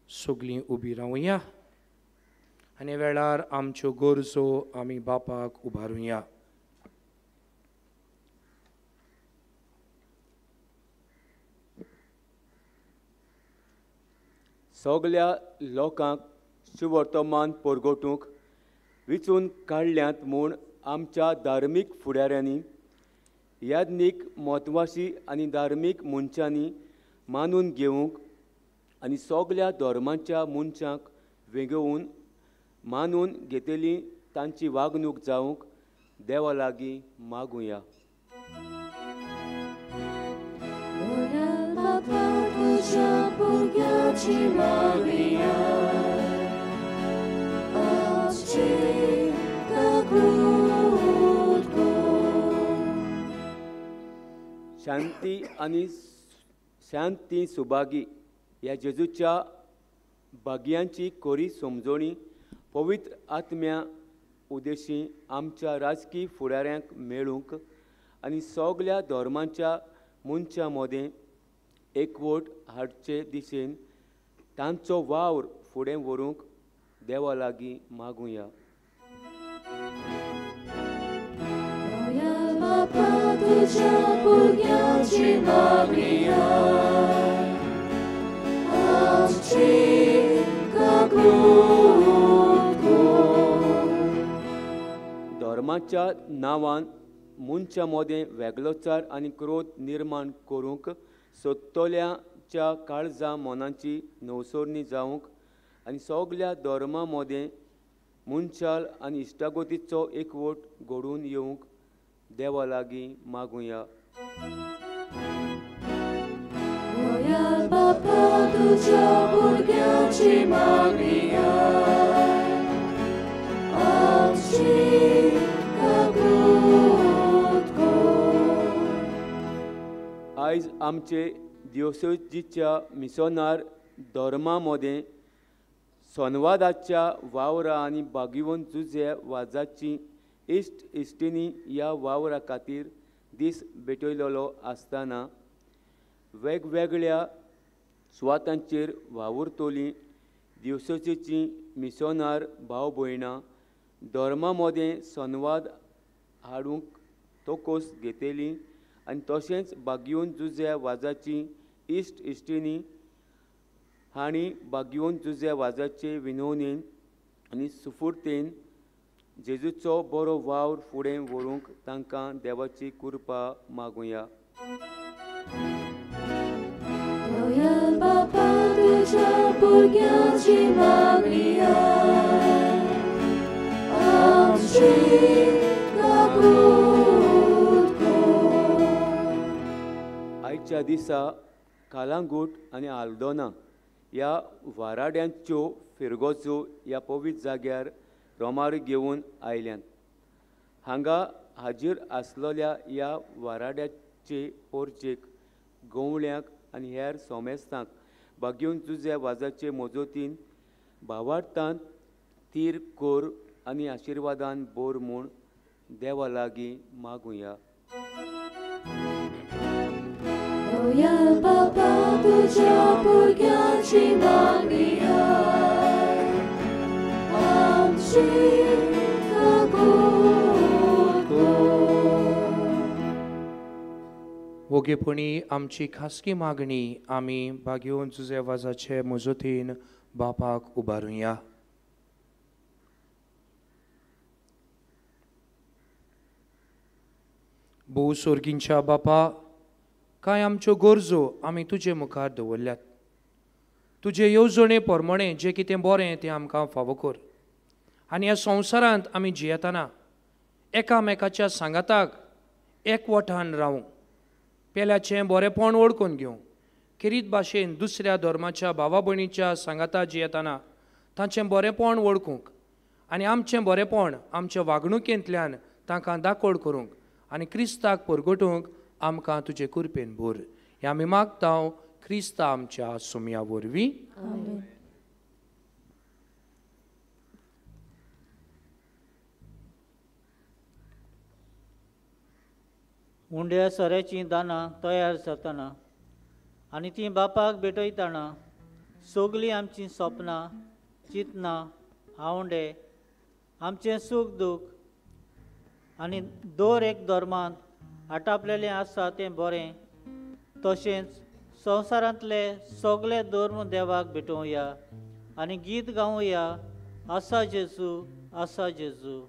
सगळीं उबी रावया आनी वेळार आमच्यो गरजो आमी बापाक उबारुया. सगल्या लोकांक सुवर्तमान परगटूंक विचून काडल्यात म्हूण आमच्या धार्मीक फुडाऱ्यांनी, याज्ञीक म्हत्वाशी आनी धार्मीक मनशांनी मानून घेवंक आनी सगल्या धर्मांच्या मनशांक वेंगोवन मानून घेतली तांची वागणूक जावंक देवा लागीं मागुया. शांती आनी शांती सुभागी ह्या जेजूच्या भाग्यांची कोरी समजोणी पवित्र आत्म्या उदेशी आमच्या राजकीय फुडाऱ्यांक मेळूंक आनी सगल्या धर्मांच्या मनशां मदें एकवट हाडचे दिशेन तांचो वावर फुडें व्हरूंक देवा लागीं मागुया. धर्माच्या नांवान मनशां मदें वेगळोचार आनी क्रोध निर्माण करूंक सोदतल्याच्या काळजा मनाची नवसरणी जावंक आनी सगल्या धर्मां मदें मनशाल आनी इश्टागतीचो एकवट घडोवन येवंक देवा लागीं मागुया. आयज आमचे दिवसोजीच्या मिसोनार धर्मा मदें संवादाच्या वावरा आनी बागीवन जुजे वाजाची इश्ट इश्टिनी ह्या वावरा खातीर दीस भेटयलेलो आसतना वेगवेगळ्या सुवातांचेर वावुरतली दिवसोचीं मिसोनार भाव भयणां धर्मा मदें संवाद हाडूंक तोकोस घेतली आनी तशेंच बागयोन जुझ्या वाजाची इश्ट इश्टिनी हांणी बागयोन जुझ्या वाजाचे विनवणेन आनी सुफुर्तेन जेजूचो बरो वावर फुडें व्हरूंक तांकां देवाची कृपा मागुया. आयच्या दिसा कालांगूट आनी आल्दोना ह्या वाराड्यांच्यो फिरगोजो ह्या पवित्र जाग्यार रोमार घेवन आयल्यात. हांगा हाजीर आसलेल्या ह्या वाराड्याचे पोरचेक गवळ्यांक आनी हेर सोमेस्तांक बागयोन जुझ्या वाजाचे मजतीन भावार्थान तीर कोर आनी आशिर्वादान बोर म्हूण देवा लागीं मागुया. वोगेपणी आमची खासगी मागणी आमी बागयोन जुझे वाजाचे मजतीन बापाक उबारुया. भोव सोर्गींच्या बापा, कांय आमच्यो गरजो आमी तुजे मुखार दवरल्यात. तुजे येवजणे प्रमाणें जें कितें बरें तें आमकां फावो कर आनी ह्या संवसारांत आमी जियेतना एकामेकाच्या सांगाताक एकवटान रावूं, पेल्याचें बरेंपण वळखून घेवं, खेरीत भाशेन दुसऱ्या धर्माच्या भावा भयणीच्या सांगाता जियेतना तांचें बरेंपण वळखूंक आनी आमचें बरेंपण आमच्या वागणुकेंतल्यान तांकां दाकोड करूंक आनी क्रिस्ताक परगटूंक आमकां तुजे कृपेन भर. हें आमी मागता क्रिस्ता आमच्या सुमया वरवीं. उंड्या सोऱ्याचीं दानां तयार जातना आनी तीं बापाक भेटयतना सगळीं आमचीं सपनां, चिंतनां, आवंडे, आमचें सूख दूख आनी दर एक धर्मांत आटापलेलें आसा तें बरें, तशेंच संवसारांतले सगळे धर्म देवाक भेटोवया आनी गीत गावया, आसा जेजू, आसा जेजू.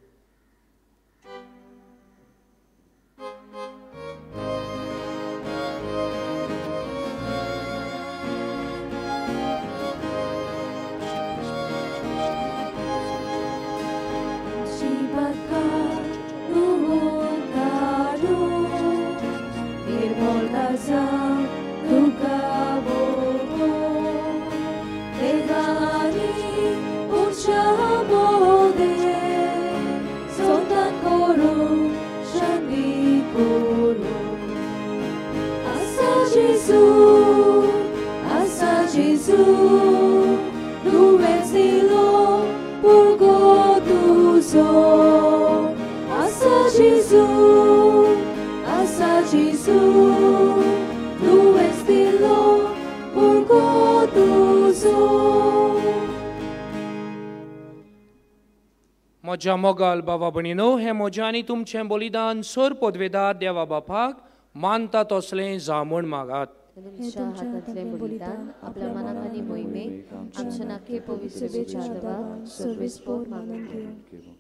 म्हज्या मोगाल बाबा भयणीनो, हें म्हजें आनी तुमचें बलिदान सर पदवेदार देवा बापाक मानता तसलें जावं म्हूण मागात. तुमच्या हातांतलें बलिदान आपल्या मनाक आनी मोहिमेक आमच्या नाके पवित्र देवाक सर्वेस्पोर मानून घेवं.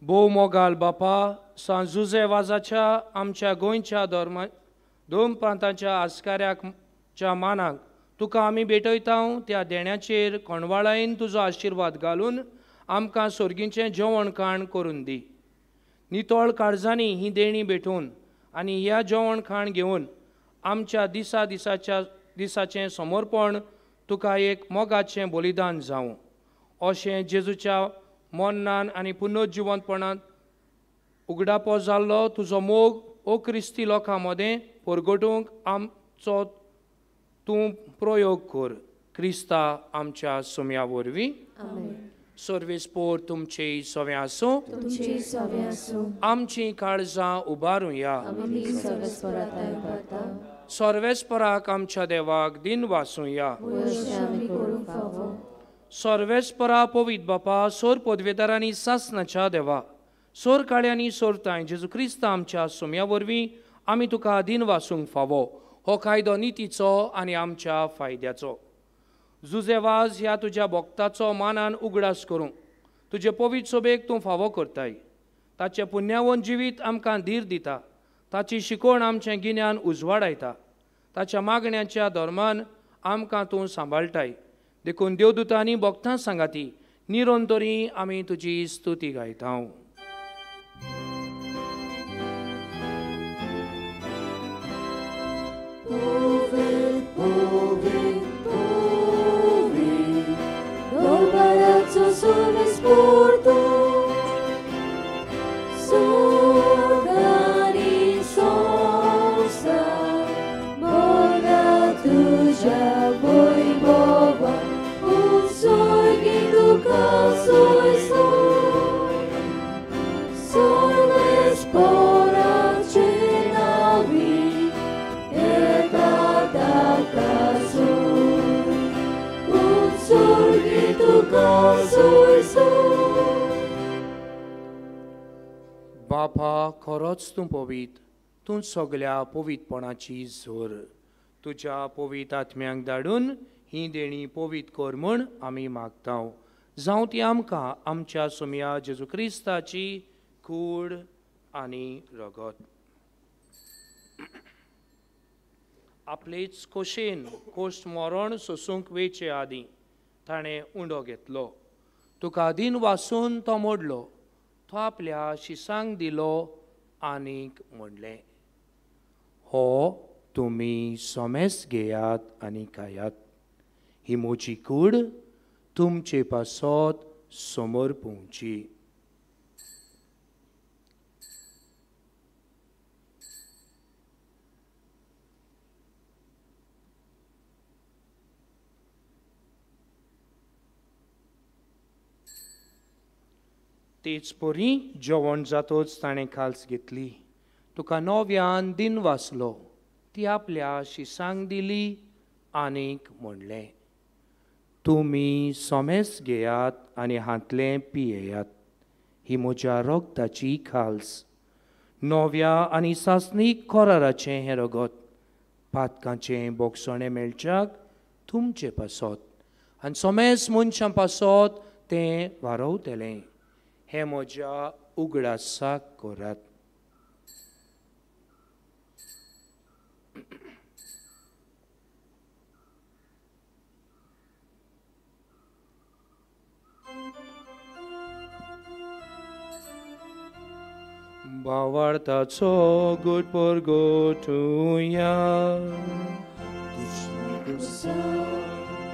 भोव मोगाल बापा, सांत जुझे वाजाच्या आमच्या गोंयच्या धर्मा दोन प्रांताच्या आस्काऱ्याच्या मानाक तुका आमी भेटयता त्या देण्याचेर कोणवाळायेन तुजो आशिर्वाद घालून आमकां सोर्गीचें जेवण खाण करून दी. नितळ काळजांनी ही देणी भेटोवन आनी ह्या जेवण खाण घेवन आमच्या दिसा दिसाच्या दिसाचें समर्पण तुका एक मोगाचें बलिदान जावं, अशें जेजूच्या मरणान आनी पुनर्जिवंतपणांत उगडापो जाल्लो तुजो मोग ओ क्रिस्ती लोकां मदें परगटूंक आमचो तूं प्रयोग कर. क्रिस्ता आमच्या सुम्या वरवीं. सर्वेस्पोर तुमचे सवें आसूं, आमची काळजां उबारुया. सर्वेस्पराक आमच्या देवाक दिन वासुया. सर्वेस्परा पवित्र बापा, सोर पदवेदारांनी सासनाच्या देवा, सोर काळ्यांनी सोरताय जेजू क्रिस्ता आमच्या सुम्या वरवीं आमी तुका दिन वासूंक फावो. हो कायदो नितीचो आनी आमच्या फायद्याचो. जुझे वाज ह्या तुज्या भक्ताचो मानान उगडास करूंक तुजे पवित्र सोबेक तूं फावो करताय. ताचें पुण्यावन जिवीत आमकां धीर दिता, ताची शिकवण आमचें गिन्यान उजवाडायता, ताच्या मागण्याच्या धर्मान आमकां तूं सांबाळटाय. देखून देवदूतांनी भक्तां सांगाती निरंतरी आमी तुजी स्तुती गायता. बापा, खरोच तूं पवीत, तूं सगल्या पवितपणाची जोर. तुज्या पवीत आत्म्यांक धाडून ही देणी पवीत कर म्हूण आमी मागता. जावं ती आमकां आमच्या सोमया जेजू क्रिस्ताची कूड आनी रगत. आपलेच खोशेन कोश्ट मरण सोसूंक वेचे आदीं ताणें उंडो घेतलो. तुका दिन वासून तो मोडलो, तो आपल्या शिसांक दिलो आनीक म्हणलें, हो तुमी सोमेस घेयात आनी खायात, ही म्हजी कूड तुमचे पासत समोर पोवची. तेच परी जेवण जातोच ताणें खाल्स घेतली, तुका नव्यान दिन वाचलो, ती आपल्या शिसांक दिली आनीक म्हणलें, तुमी सोमेस घेयात आनी हांतलें पियेयात, ही म्हज्या रगताची खाल्स, नव्या आनी सासणीक कराराचें हें रगत, पातकांचें बोगसणें मेळच्याक तुमचे पासत आनी सोमेस मनशां पासत तें वारवतलें, हें म्हज्या उगडासाक करात. भावार्थाचो गुट परगटुया.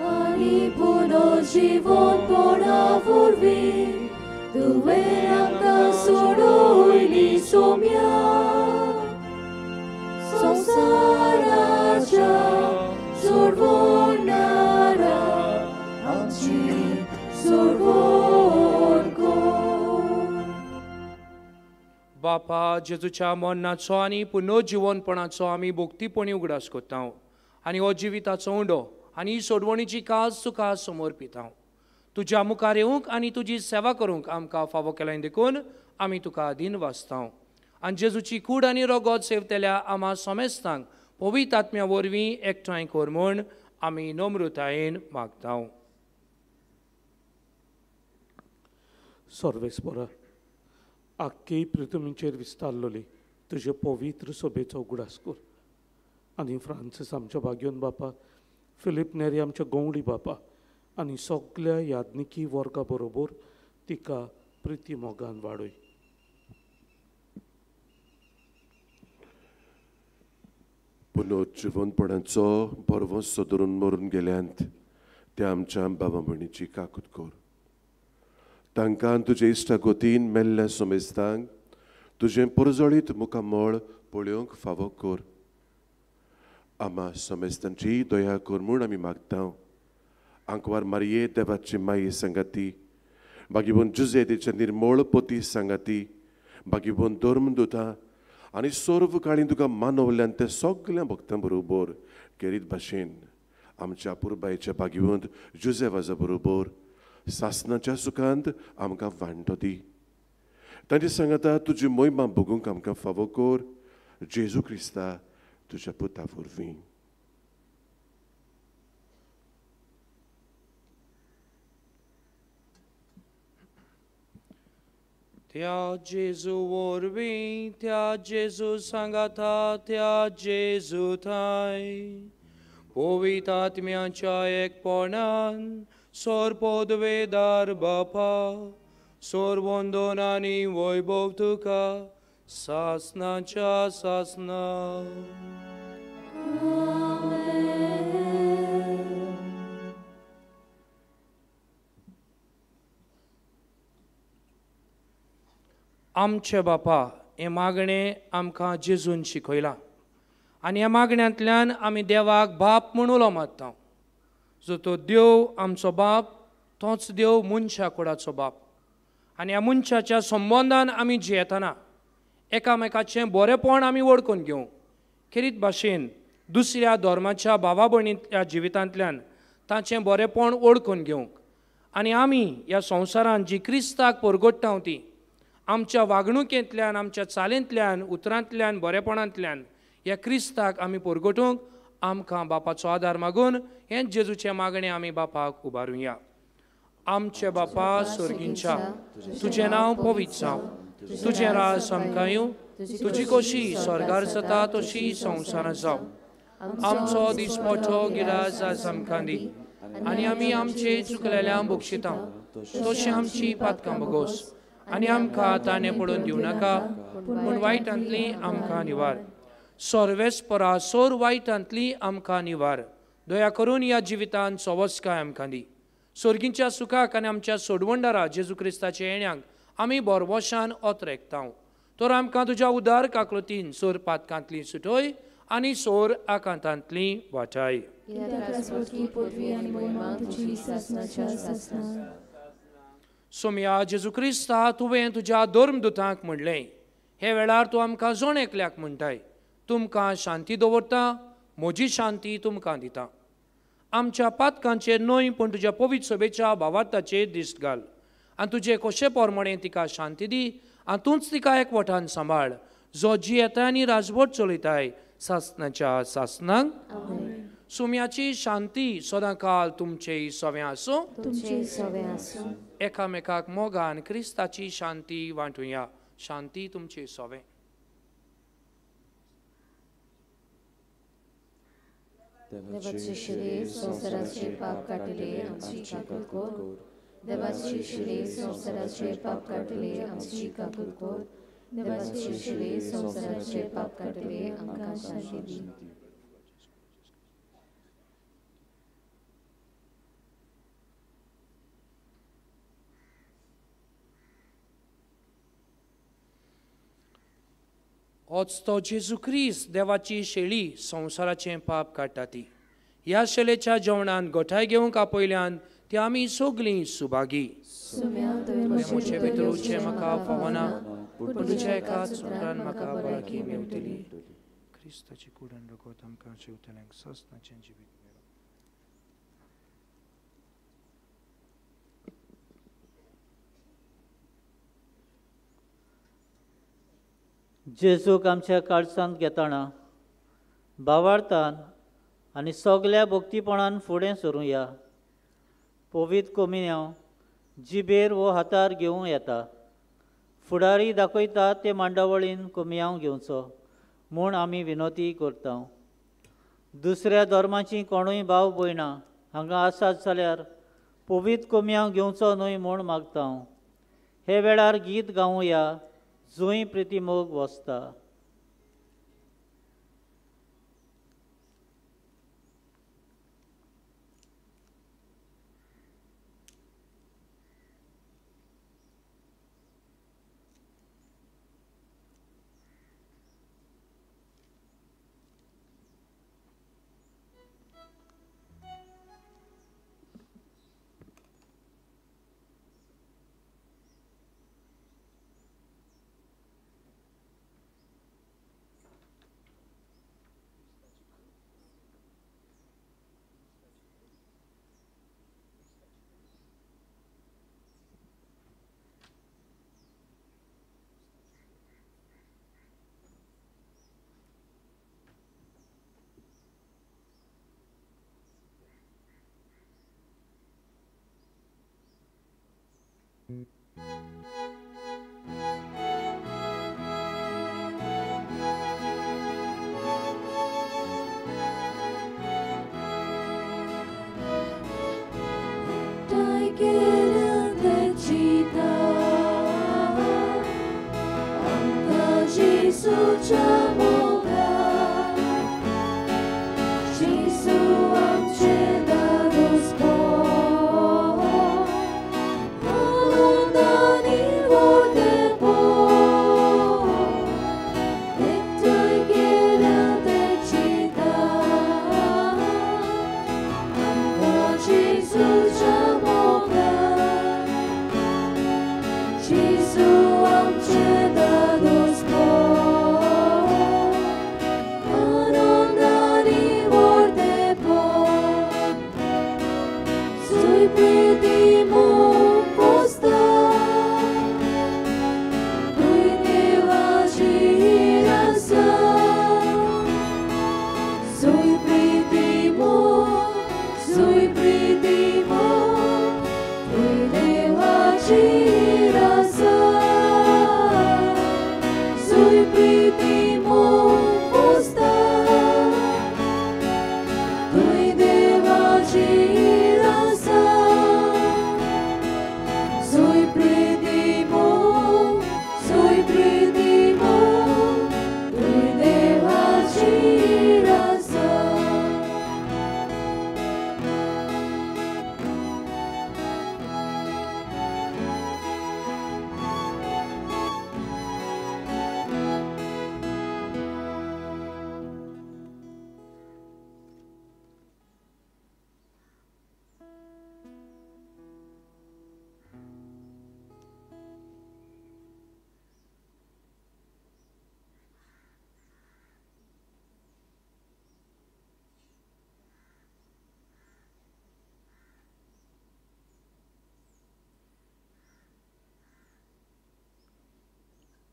आनी पुनर्जीवनपणा वरवीं तुवें आमकां सोडयली सोम्या, संवसाराच्या सोडवणारा आमची सोडवण कर. बापा, जेजूच्या मरणाचो आनी पुनर्जीवनपणाचो आमी भक्तीपणी उगडास करता आनी हो जिविताचो उंडो आनी सोडवणीची काज तुका समर्पिता. तुज्या मुखार येवंक आनी तुजी सेवा करूंक आमकां फावो केलें देखून आमी तुका दिन वाचता. आनी जेजूची कूड आनी रगत सेवतल्या आमा सोमेस्तांक पवित्र आत्म्या वरवीं एकठांय कर म्हूण आमी नम्रतायेन मागता. सर्वेस्परा, आख्खे पृथ्वीचेर विस्तारलोली तुजे पवित्र सभेचो उगडास कर आनी फ्रांसीस आमच्या भाग्योन बापा, फिलीप नेरी आमच्या गवळी बापा आनी सगल्या याज्ञिकी वर्गा बरोबर तिका प्रिती मोगान वाडय. पुनर्जीवनपणाचो भरवंसो धरून मरून गेल्यांत त्या आमच्या बाबा भयणीची काकूत कर. तांकां तुजे इश्टागतीन मेल्ल्या समेस्तांक तुजें परजळीत मुखामळ पळोवंक फावो कर. आमा समेस्तांची दया कर म्हूण आमी मागता. आंकवार मारये देवाची माई सांगाती, बागीबोन जुजे तिचे निर्मळ पती सांगाती, बागीबोन धर्मदुतां आनी सर्व काळी तुका मानवल्यान ते सगल्या भक्तां बरोबर केरीत भाशेन आमच्या पुरबायच्या बागीवंत जुजे वाजा बरोबर सासनाच्या सुखांत आमकां वांटो दी. तांचे सांगाता तुजी मोहिमा भोगूंक आमकां फावो कर, जेजू क्रिस्ता तुज्या पुता वरवीं. त्या जेजू वरवीं, त्या जेजू सांगाता, त्या जेजू थांय पवित्र आत्म्याच्या एकपणान सोर पदवेदार बापा, सोर वंदन आनी वैभव तुका सासनाच्या सासना. आमचे बापा, हें मागणें आमकां जेजून शिकयलां आनी ह्या मागण्यांतल्यान आमी देवाक बाप म्हूण उलो मारता. जो तो देव आमचो बाप, तोच देव मनशा कुडाचो बाप. आनी ह्या मनशाच्या संबंदान आमी जियेतना एकामेकाचें बरेंपण आमी वळखून घेवंक, खेरीत भाशेन दुसऱ्या धर्माच्या भावा भयणीच्या जिवितांतल्यान ताचें बरेंपण वळखून घेवंक आनी आमी ह्या संवसारांत जी क्रिस्ताक परगट्टा ती आमच्या वागणुकेंतल्यान, आमच्या चालींतल्यान, उतरांतल्यान, बरेपणांतल्यान ह्या क्रिस्ताक आमी परगटूंक आमकां बापाचो आदार मागून हें जेजूचें मागणें आमी बापाक उबारुया. आमचे बापा स्वर्गींच्या, तुजें नांव पवित्र जावं, तुजें राज आमकां येवं, तुजी कशी स्वर्गार जाता तशी संवसारांत जावं. आमचो दिसपटो गिरास आज आमकां दी आनी आमी आमचे चुकलेल्यांक बक्षिता तशी आमची पातकां बगोस आनी आमकां ताणें पडून दिवं नाका पूण वायटांतली आमकां निवार. सर्वेस्परा सोर वायटांतली आमकां निवार. दया करून ह्या जिवितांत सवस्काय आमकां दी. सोर्गींच्या सुखाक आनी आमच्या सोडवणदारा जेजू क्रिस्ताच्या येण्याक आमी बोरवशान ओतरेकता. तर आमकां तुज्या उदार काकलुतीन सोर पातकांतली सुटय आनी सोर आकांतांतली वाटाय. सोम्या जेजू क्रिस्ता, तुवें तुज्या धर्मदुतांक म्हणलें, हे वेळार तूं आमकां जण एकल्याक म्हणटाय, तुमकां शांती दवरता, म्हजी शांती तुमकां दिता. आमच्या पातकांचेर न्हय पूण तुज्या पवित्र सभेच्या भावार्थाचेर दिश्ट घाल आनी तुजे कशे प्रमाणे तिका शांती दी आनी तूंच तिका एकवटान सांबाळ, जो जियेता आनी राजवट चलयताय सासनाच्या सासनाक. सुम्याची शांती सदांकाल तुमचे सवें आसूं. एकामेकाक मोगान क्रिस्ताची शांती वांटुया. शांती तुमचे सवें. देवाचे शिरे संवसाराचे पाप काडटले आमची काकूत कर. देवाचे शिरे संवसाराचे पाप काडटले आमची काकूत कर. देवाचे शिरे संवसाराचे पाप काडटले आमकां शांती दी. होच तो जेजू क्रिस्त देवाची शेळी संवसाराचें पाप काडटा ती. ह्या शेळेच्या जेवणान गोठाय घेवंक आपयल्यान ती आमी सगळीं सुभागी. म्हजे भितर उरचें म्हाका फावना पूण तुज्या एकाच उतरान म्हाका भलायकी मेवतली. क्रिस्ताची कूड आनी रगत आमकां जेवतल्यांक सासणाचें जिवीत मेळूं. जेजूक आमच्या काळजांत घेतना भावार्थान आनी सगल्या भक्तीपणान फुडें सरुया. पवित्र कोमिन्यांव जिबेर वो हातार घेवं येता. फुडारी दाखयता ते मांडावळीन कोमियांव घेवचो म्हूण आमी विनोती करता. दुसऱ्या धर्माची कोणूय भाव भयणां हांगा आसात जाल्यार पवित्र कोमियांव घेवचो न्हय म्हूण मागता. हे वेळार गीत गावया जंय प्रितीमोग वसता. Gesù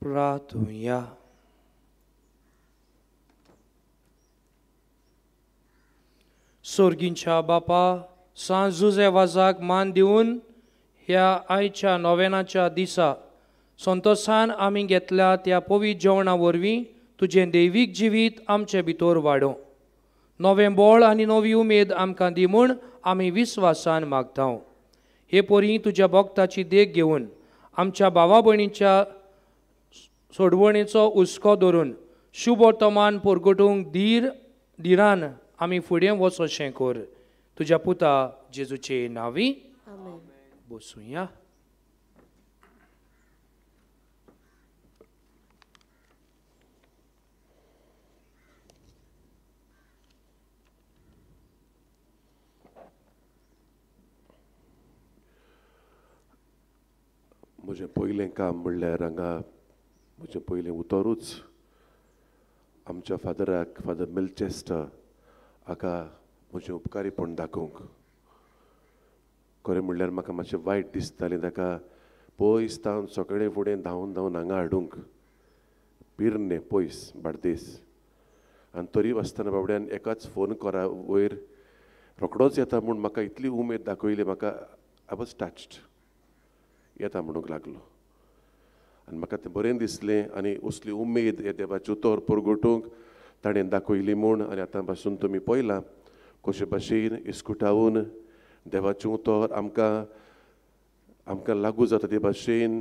प्रार्थुया. सोर्गींच्या बापा, सांत जुजे वाजाक मान दिवन ह्या आयच्या नोवेनाच्या दिसा संतोसान आमी घेतल्या त्या पवित्र जेवणा वरवीं तुजें दैवीक जिवीत आमचे भितर वाडोवं. नवें बळ आनी नवी उमेद आमकां दी म्हूण आमी विस्वासान मागता. हे परी तुज्या भक्ताची देख घेवन आमच्या भावा भयणीच्या सोडवणेचो हुस्को धरून शुभ वर्तमान परगटूंक धीर धिरान आमी फुडें वचोशें कर. तुज्या पुता जेजूचे नांवी बसुया. म्हजें पयलें काम म्हणल्यार हांगा म्हजें पयलें उतरूच आमच्या फादराक, फादर मिल्चेस्टर हाका म्हजें उपकारीपण दाखोवंक. खरें म्हणल्यार म्हाका मातशें वायट दिसतालें ताका पयस तावन सकाळीं फुडें धांवन धांवन हांगा हाडूंक, पिर्णे पयस बार्देस. आनी तरी आसतना बाबड्यान एकाच फोन करा वयर रोखडोच येता म्हूण म्हाका इतली उमेद दाखयली, म्हाका I was touched. येता म्हणूंक लागलो आनी म्हाका तें बरें दिसलें आनी असली उमेद हे देवाचें उतर परगटूंक ताणें दाखयली म्हूण. आनी आतां पासून तुमी पळयलां कशे भाशेन इस्कुटावन देवाचें उतर आमकां आमकां लागू जाता ते भाशेन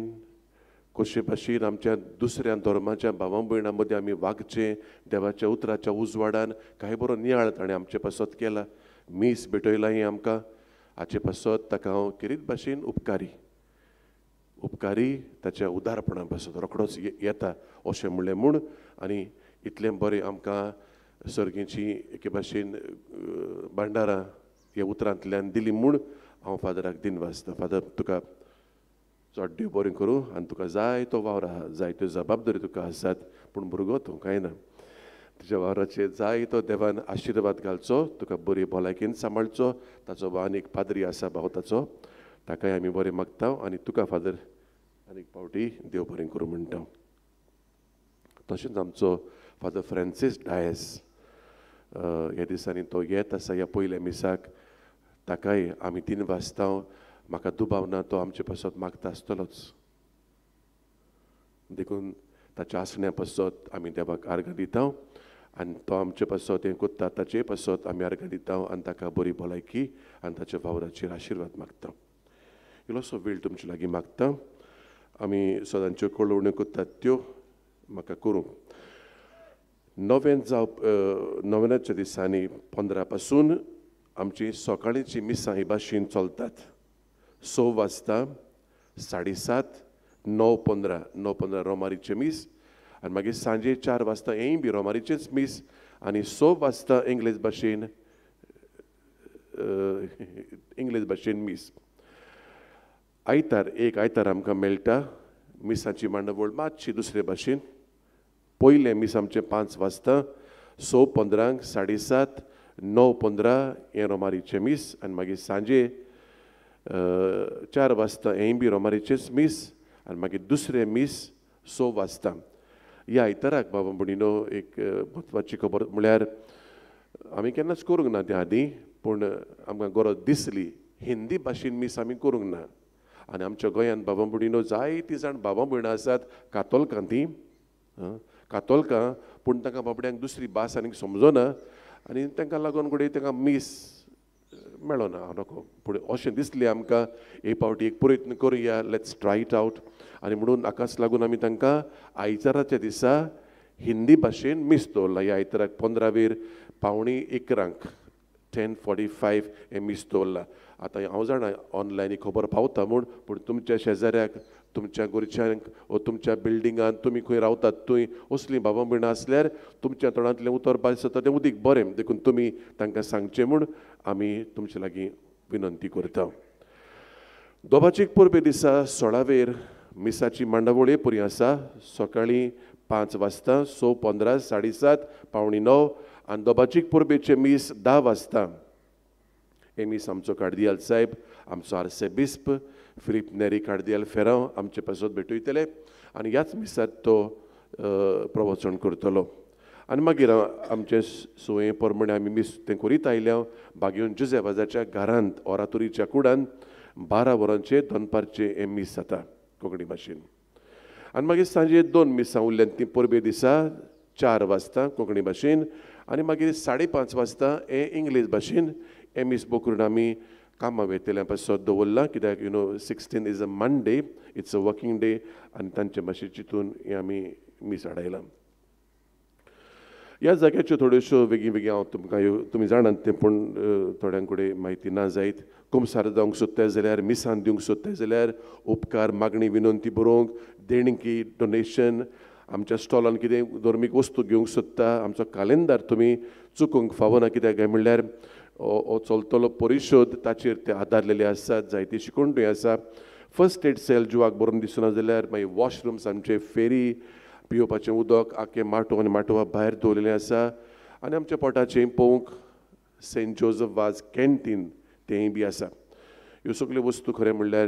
कशे भाशेन आमच्या दुसऱ्या धर्माच्या भावा भयणां मदीं आमी वागचें देवाच्या उतराच्या उजवाडान. कांय बरो नियाळ ताणें आमचे पासत केला, मीस भेटयलां हें आमकां, हाचे पासत ताका हांव खेरीत भाशेन उपकारी उपकारी ताच्या उदारपणा पासत रोखडोच येता अशें म्हणलें म्हूण. आनी इतलें बरें आमकां सर्गीची एके भाशेन भांडारां ह्या उतरांतल्यान दिली म्हूण हांव फादराक दिनवासता. फादर, तुका चड देव बरें करूं आनी तुका जाय तो वावर आहा, जाय त्यो जबाबदारी तुका आसात, पूण भुरगो तूं कांय ना, तुज्या वावराचेर जाय तो देवान आशिर्वाद घालचो, तुका बरी भलायकेन सांबाळचो. ताचो आनीक पाद्री आसा भाव ताचो, ताकाय आमी बरें मागता आनी तुका फादर आनीक फावटी देव बरें करूं म्हणटा. तशेंच आमचो फादर फ्रांसीस डायस ह्या दिसांनी तो येत आसा ह्या पयल्या मिसाक, ताकाय आमी तीन वाजता. म्हाका दुबाव ना तो आमचे पासत मागता आसतलोच, देखून ताच्या आसण्या पासत आमी देवाक आर्गां दिता आनी तो आमचे पासत हें कोत्ता ताचे पासत आमी आर्गां दिता आनी ताका बरी भलायकी आनी ताच्या वावराचेर आशिर्वाद मागता. इल्लोसो वेळ तुमचे लागीं मागता. आमी सदांच्यो कळोवण्यो कोत्तात त्यो म्हाका करूंक. नोवेन जावप नोवेनाच्या दिसांनी पंदरा पासून आमची सकाळींची मिसां ही भाशेन चलतात. स वाजता, साडे सात, णव पंदरा, णव पंदरा रोमारीचें मीस आनी मागीर सांजे चार वाजता हेंय बी रोमारीचेंच मीस आनी स वाजता इंग्लीश भाशेन इंग्लीश भाशेन मीस. आयतार एक आयतार आमकां मेळटा मिसाची मांडावळ मातशी दुसरे भाशेन. पयलें मीस आमचें पांच वाजता, स पंदरांक, साडे सात, णव पंदरा हें रोमारीचें मीस आनी मागीर सांजे चार वाजता हेंय बी रोमारीचेंच मीस आनी मागीर दुसरें मीस स वाजता. ह्या आयताराक बाबा भयणीनो एक म्हत्वाची खबर म्हळ्यार आमी केन्नाच करूंक ना त्या आदीं, पूण आमकां गरज दिसली हिंदी भाशेन मीस आमी करूंक ना. आनी आमच्या गोंयांत बाबा भयणीनो जायतीं जाण बाबा भयणां आसात कातोलकां, तीं कातोलकां, पूण तांकां बाबड्यांक दुसरी भास आनीक समजना आनी तांकां लागून घडये तांकां मीस मेळना नको. पूण अशें दिसलें आमकां एक फावटी एक प्रयत्न करुया, let's try it out. आनी म्हणून हाकाच लागून आमी तांकां आयताराच्या दिसा हिंदी भाशेन मीस दवरलां. ह्या आयताराक पंदरावेर पावणी इकरांक टेन फोर्टी फायव हें मीस दवरलां. आतां हांव जाणा ऑनलायन ही खबर पावता म्हूण, पूण तुमच्या शेजाऱ्याक, तुमच्या घरच्यांक वो तुमच्या बिल्डिंगान तुमी खंय रावतात थंय असलीं बाबा भयणां आसल्यार तुमच्या तोंडांतलें उतर भायर सरता तें उदीक बरें, देखून तुमी तांकां सांगचें म्हूण आमी तुमचे लागीं विनंती करता. दोबाचीक परबे दिसा सोळावेर मिसाची मांडावळ पुरी आसा. सकाळीं पांच वाजता, स पंदरा, साडे सात, पावणी णव आनी दोबाचीक परबेचें मीस धा वाजता. हें मीस आमचो कार्दियाल साहेब, आमचो आर्सेबिस्प फिलीप नेरी कार्दियाल फेरांव आमचे पासत भेटयतले आनी ह्याच मिसाक तो प्रवचन करतलो. आनी मागीर आमचे संवये प्रमाणे आमी मीस तें करीत आयल्या बागेवन जुझे वाजाच्या घरांत ओरातोरीच्या कुडान बारा वरांचेर दनपारचें हें मीस जाता कोंकणी भाशेन. आनी मागीर सांजे दोन मिसां उरल्यान तीं परबे दिसा चार वाजता कोंकणी भाशेन आनी मागीर साडे पांच वाजता हें इंग्लीश भाशेन हें मीस बकरून आमी कामां वेतल्या पासत दवरलां कित्याक you know sixteen is a Monday, it's a working day आनी तांचे भाशेन चिंतून हें आमी मीस हाडयलां. ह्या जाग्याच्यो थोड्योश्यो वेगळी वेगळी हांव तुमकां ह्यो तुमी जाणात तें पूण थोड्यां कडेन म्हायती ना जायत. कुमसार जावंक सोदताय जाल्यार मिसान दिवंक सोदताय जाल्यार उपकार मागणी विनंती बरोवंक देणगी डोनेशन आमच्या स्टॉलान कितें धर्मीक वस्तू घेवंक सोदता आमचो कालेंदार तुमी चुकोवंक फावना कित्याक काय म्हणल्यार हो चलतलो परिशोध ताचेर ते आदारलेले आसात जायती शिकोवण्यो आसा. फर्स्ट एड सेल जिवाक बरोवन दिसना जाल्यार मागीर वॉशरुम्स आमचे फेरी पिवपाचें उदक आख्खें माटोव आनी माटोवा भायर दवरिल्लें आसा आनी आमच्या पोटाचें पळोवंक सेंट जोजफ वाज कॅन्टीन तेंय बी आसा. ह्यो सगल्यो वस्तू खरें म्हणल्यार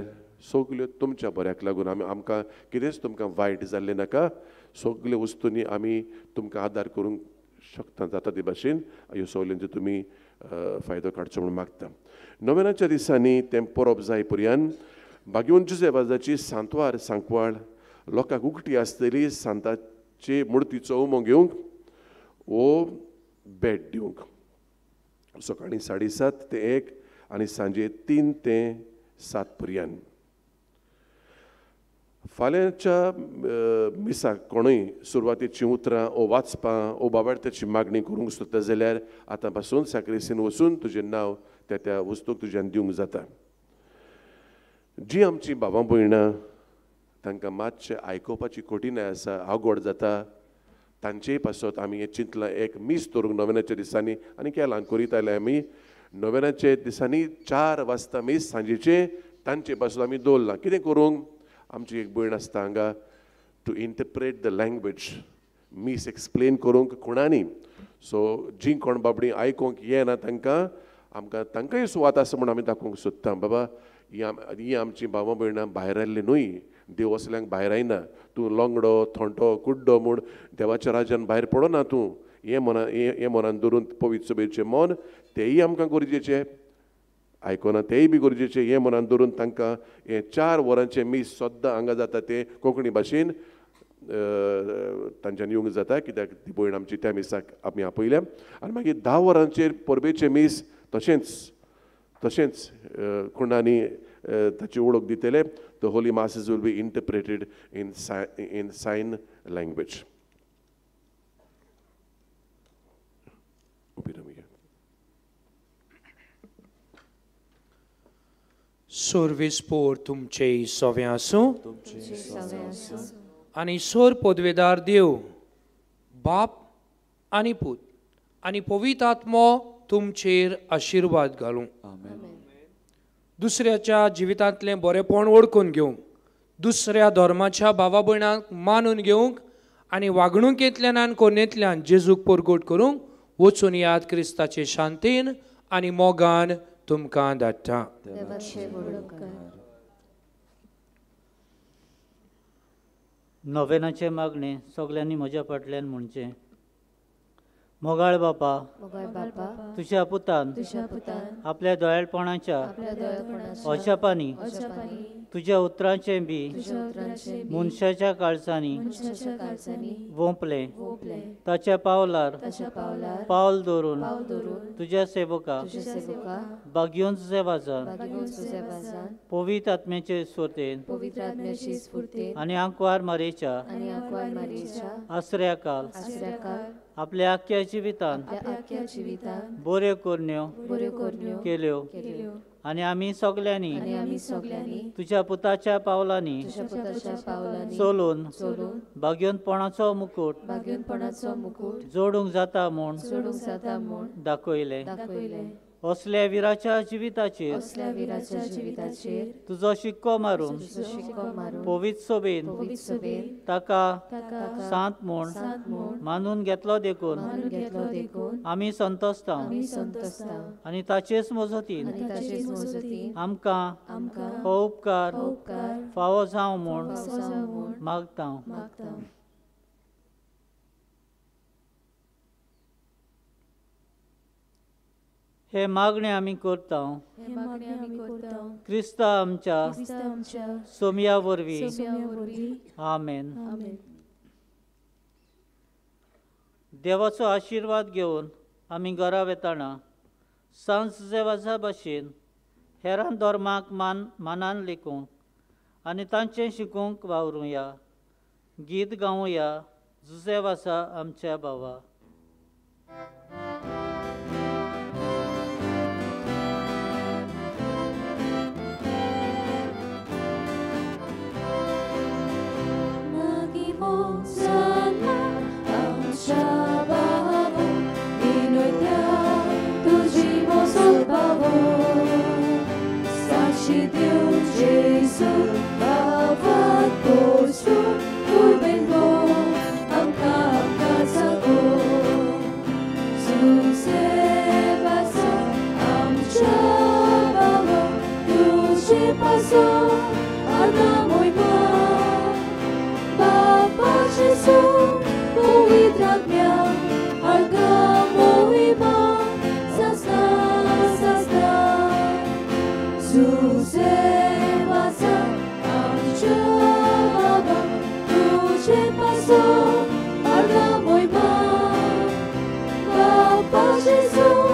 सगल्यो तुमच्या बऱ्याक लागून आमी आमकां कितेंच तुमकां वायट जाल्लें नाका. सगल्यो वस्तूंनी आमी तुमकां आदार करूंक शकता जाता ते भाशेन ह्यो सगल्यांचो तुमी फायदो काडचो म्हूण मागता. नोवेनाच्या दिसांनी तें परब जाय पर्यंत बागेवन जुझे वाजाची सांतवार सांकवाळ लोकांक उकटी आसतली सांताचे मुर्तीचो उमो घेवंक वो भेट दिवंक सकाळीं साडे सात ते एक आनी सांजे तीन ते सात पर्यंत. फाल्यांच्या मिसाक कोणूय सुरवातेचीं उतरां ओ वाचपां ओ बाबार्थाची मागणी करूंक सोदता जाल्यार आतां पासून साक्रिस्तीन वचून तुजें नांव त्या त्या वस्तूक तुज्यान दिवंक जाता. जी आमची बाबा भयणां तांकां मातशें आयकुपाची कठीणाय आसा आवगड जाता तांचेय पासत आमी हें चिंतलां एक मीस दवरूंक नोवेनाच्या दिसांनी आनी केलां करीत आयल्या आमी नोवेनाच्या दिसांनी चार वाजता मीस सांजेचें तांचे पासत आमी दवरलां. कितें करूंक आमची एक भयण आसता हांगा टू इंटरप्रेट the language मीस एक्सप्लेन करूंक कोणानी सो जीं कोण बाबडीं आयकूंक येना तांकां आमकां तांकांय सुवात आसा म्हूण आमी दाखोवंक सोदता बाबा ही आम ही आमची बाबा भयणां भायर आयल्ली न्हय देव असल्यांक भायर आयना तूं लोंगडो थोंटो कुड्डो म्हूण देवाच्या राज्यान भायर पडना तूं हें मना हें मनान धरून पवित्र सभेचें मन तेंय आमकां गरजेचें आयकना तेंय बी गरजेचें हें मनान धरून तांकां हें चार वरांचें मीस सद्दां हांगा जाता तें कोंकणी भाशेन तांच्यान येवंक जाता कित्याक ती भयण आमची त्या मिसाक आमी आपयल्या. आनी मागीर धा वरांचेर परबेचें मीस तशेंच तशेंच कोणानी ताची वळख दितले. The holy masses will be interpreted in in sign language. सोर्विसपोर तुमचे सवे आसूं आनी सोर पदवेदार देव बाप आनी पूत आनी पवित्र आत्मो तुमचेर आशिर्वाद घालूं. दुसऱ्याच्या जिवितांतलें बरेंपण वळखून घेवंक दुसऱ्या धर्माच्या भावा भयणांक मानून घेवंक आनी वागणुकेंतल्यान आनी कोनेंतल्यान जेजूक परगट करूंक वचून याद क्रिस्ताचे शांतीन आनी मोगान तुमकां धाडटा. नोवेनाचें मागणें सगल्यांनी म्हज्या फाटल्यान म्हणचें. मोगाळ बापा, तुज्या पुतान आपल्या दयाळपणाच्या अजापांनी तुज्या उतरांचें बी मनशाच्या काळजांनी वोंपलें ताच्या पावलार पावल दवरून तुज्या सेवका बागयोन सेवाजान पवित्र आत्म्याचे स्फूर्तेन आनी आंकवार मारेच्या आसऱ्या काल आपल्या आख्या जिवितान बऱ्यो करण्यो केल्यो आनी आमी सगल्यांनी तुज्या पुताच्या पावलांनी चलून भाग्योनपणाचो मुकूट जोडूंक जाता म्हूण दाखयलें. असल्या विराच्या जिविताचेर असल्या विराच्या जिविताचेर तुजो शिक्को मारून तुजो शिक्को मारून पवित्र सभेन पवित्र सभेन ताका ताका सांत म्हूण सांत म्हूण मानून घेतलो देखून मानून घेतलो देखून आमी संतोसता आमी संतोसता आनी ताचेच मजतीन आनी ताचेच मजतीन आमकां आमकां हो उपकार हो उपकार फावो जावं म्हूण फावो जावं म्हूण मागता. मागता. हे मागणे आमी करता हे मागणे आमी करता क्रिस्ता आमच्या क्रिस्ता आमच्या सोमया वरवीं. सोम्या वरवीं. आमेन. आमेन. देवाचो आशिर्वाद घेवन आमी घरा वेताना सांज जेवाजा भाशेन हेरां धर्माक मान मानान लेखूंक आनी तांचें शिकूंक वावरुया. गीत गावया जुजेव आसा आमच्या भावा. Papa Gesù,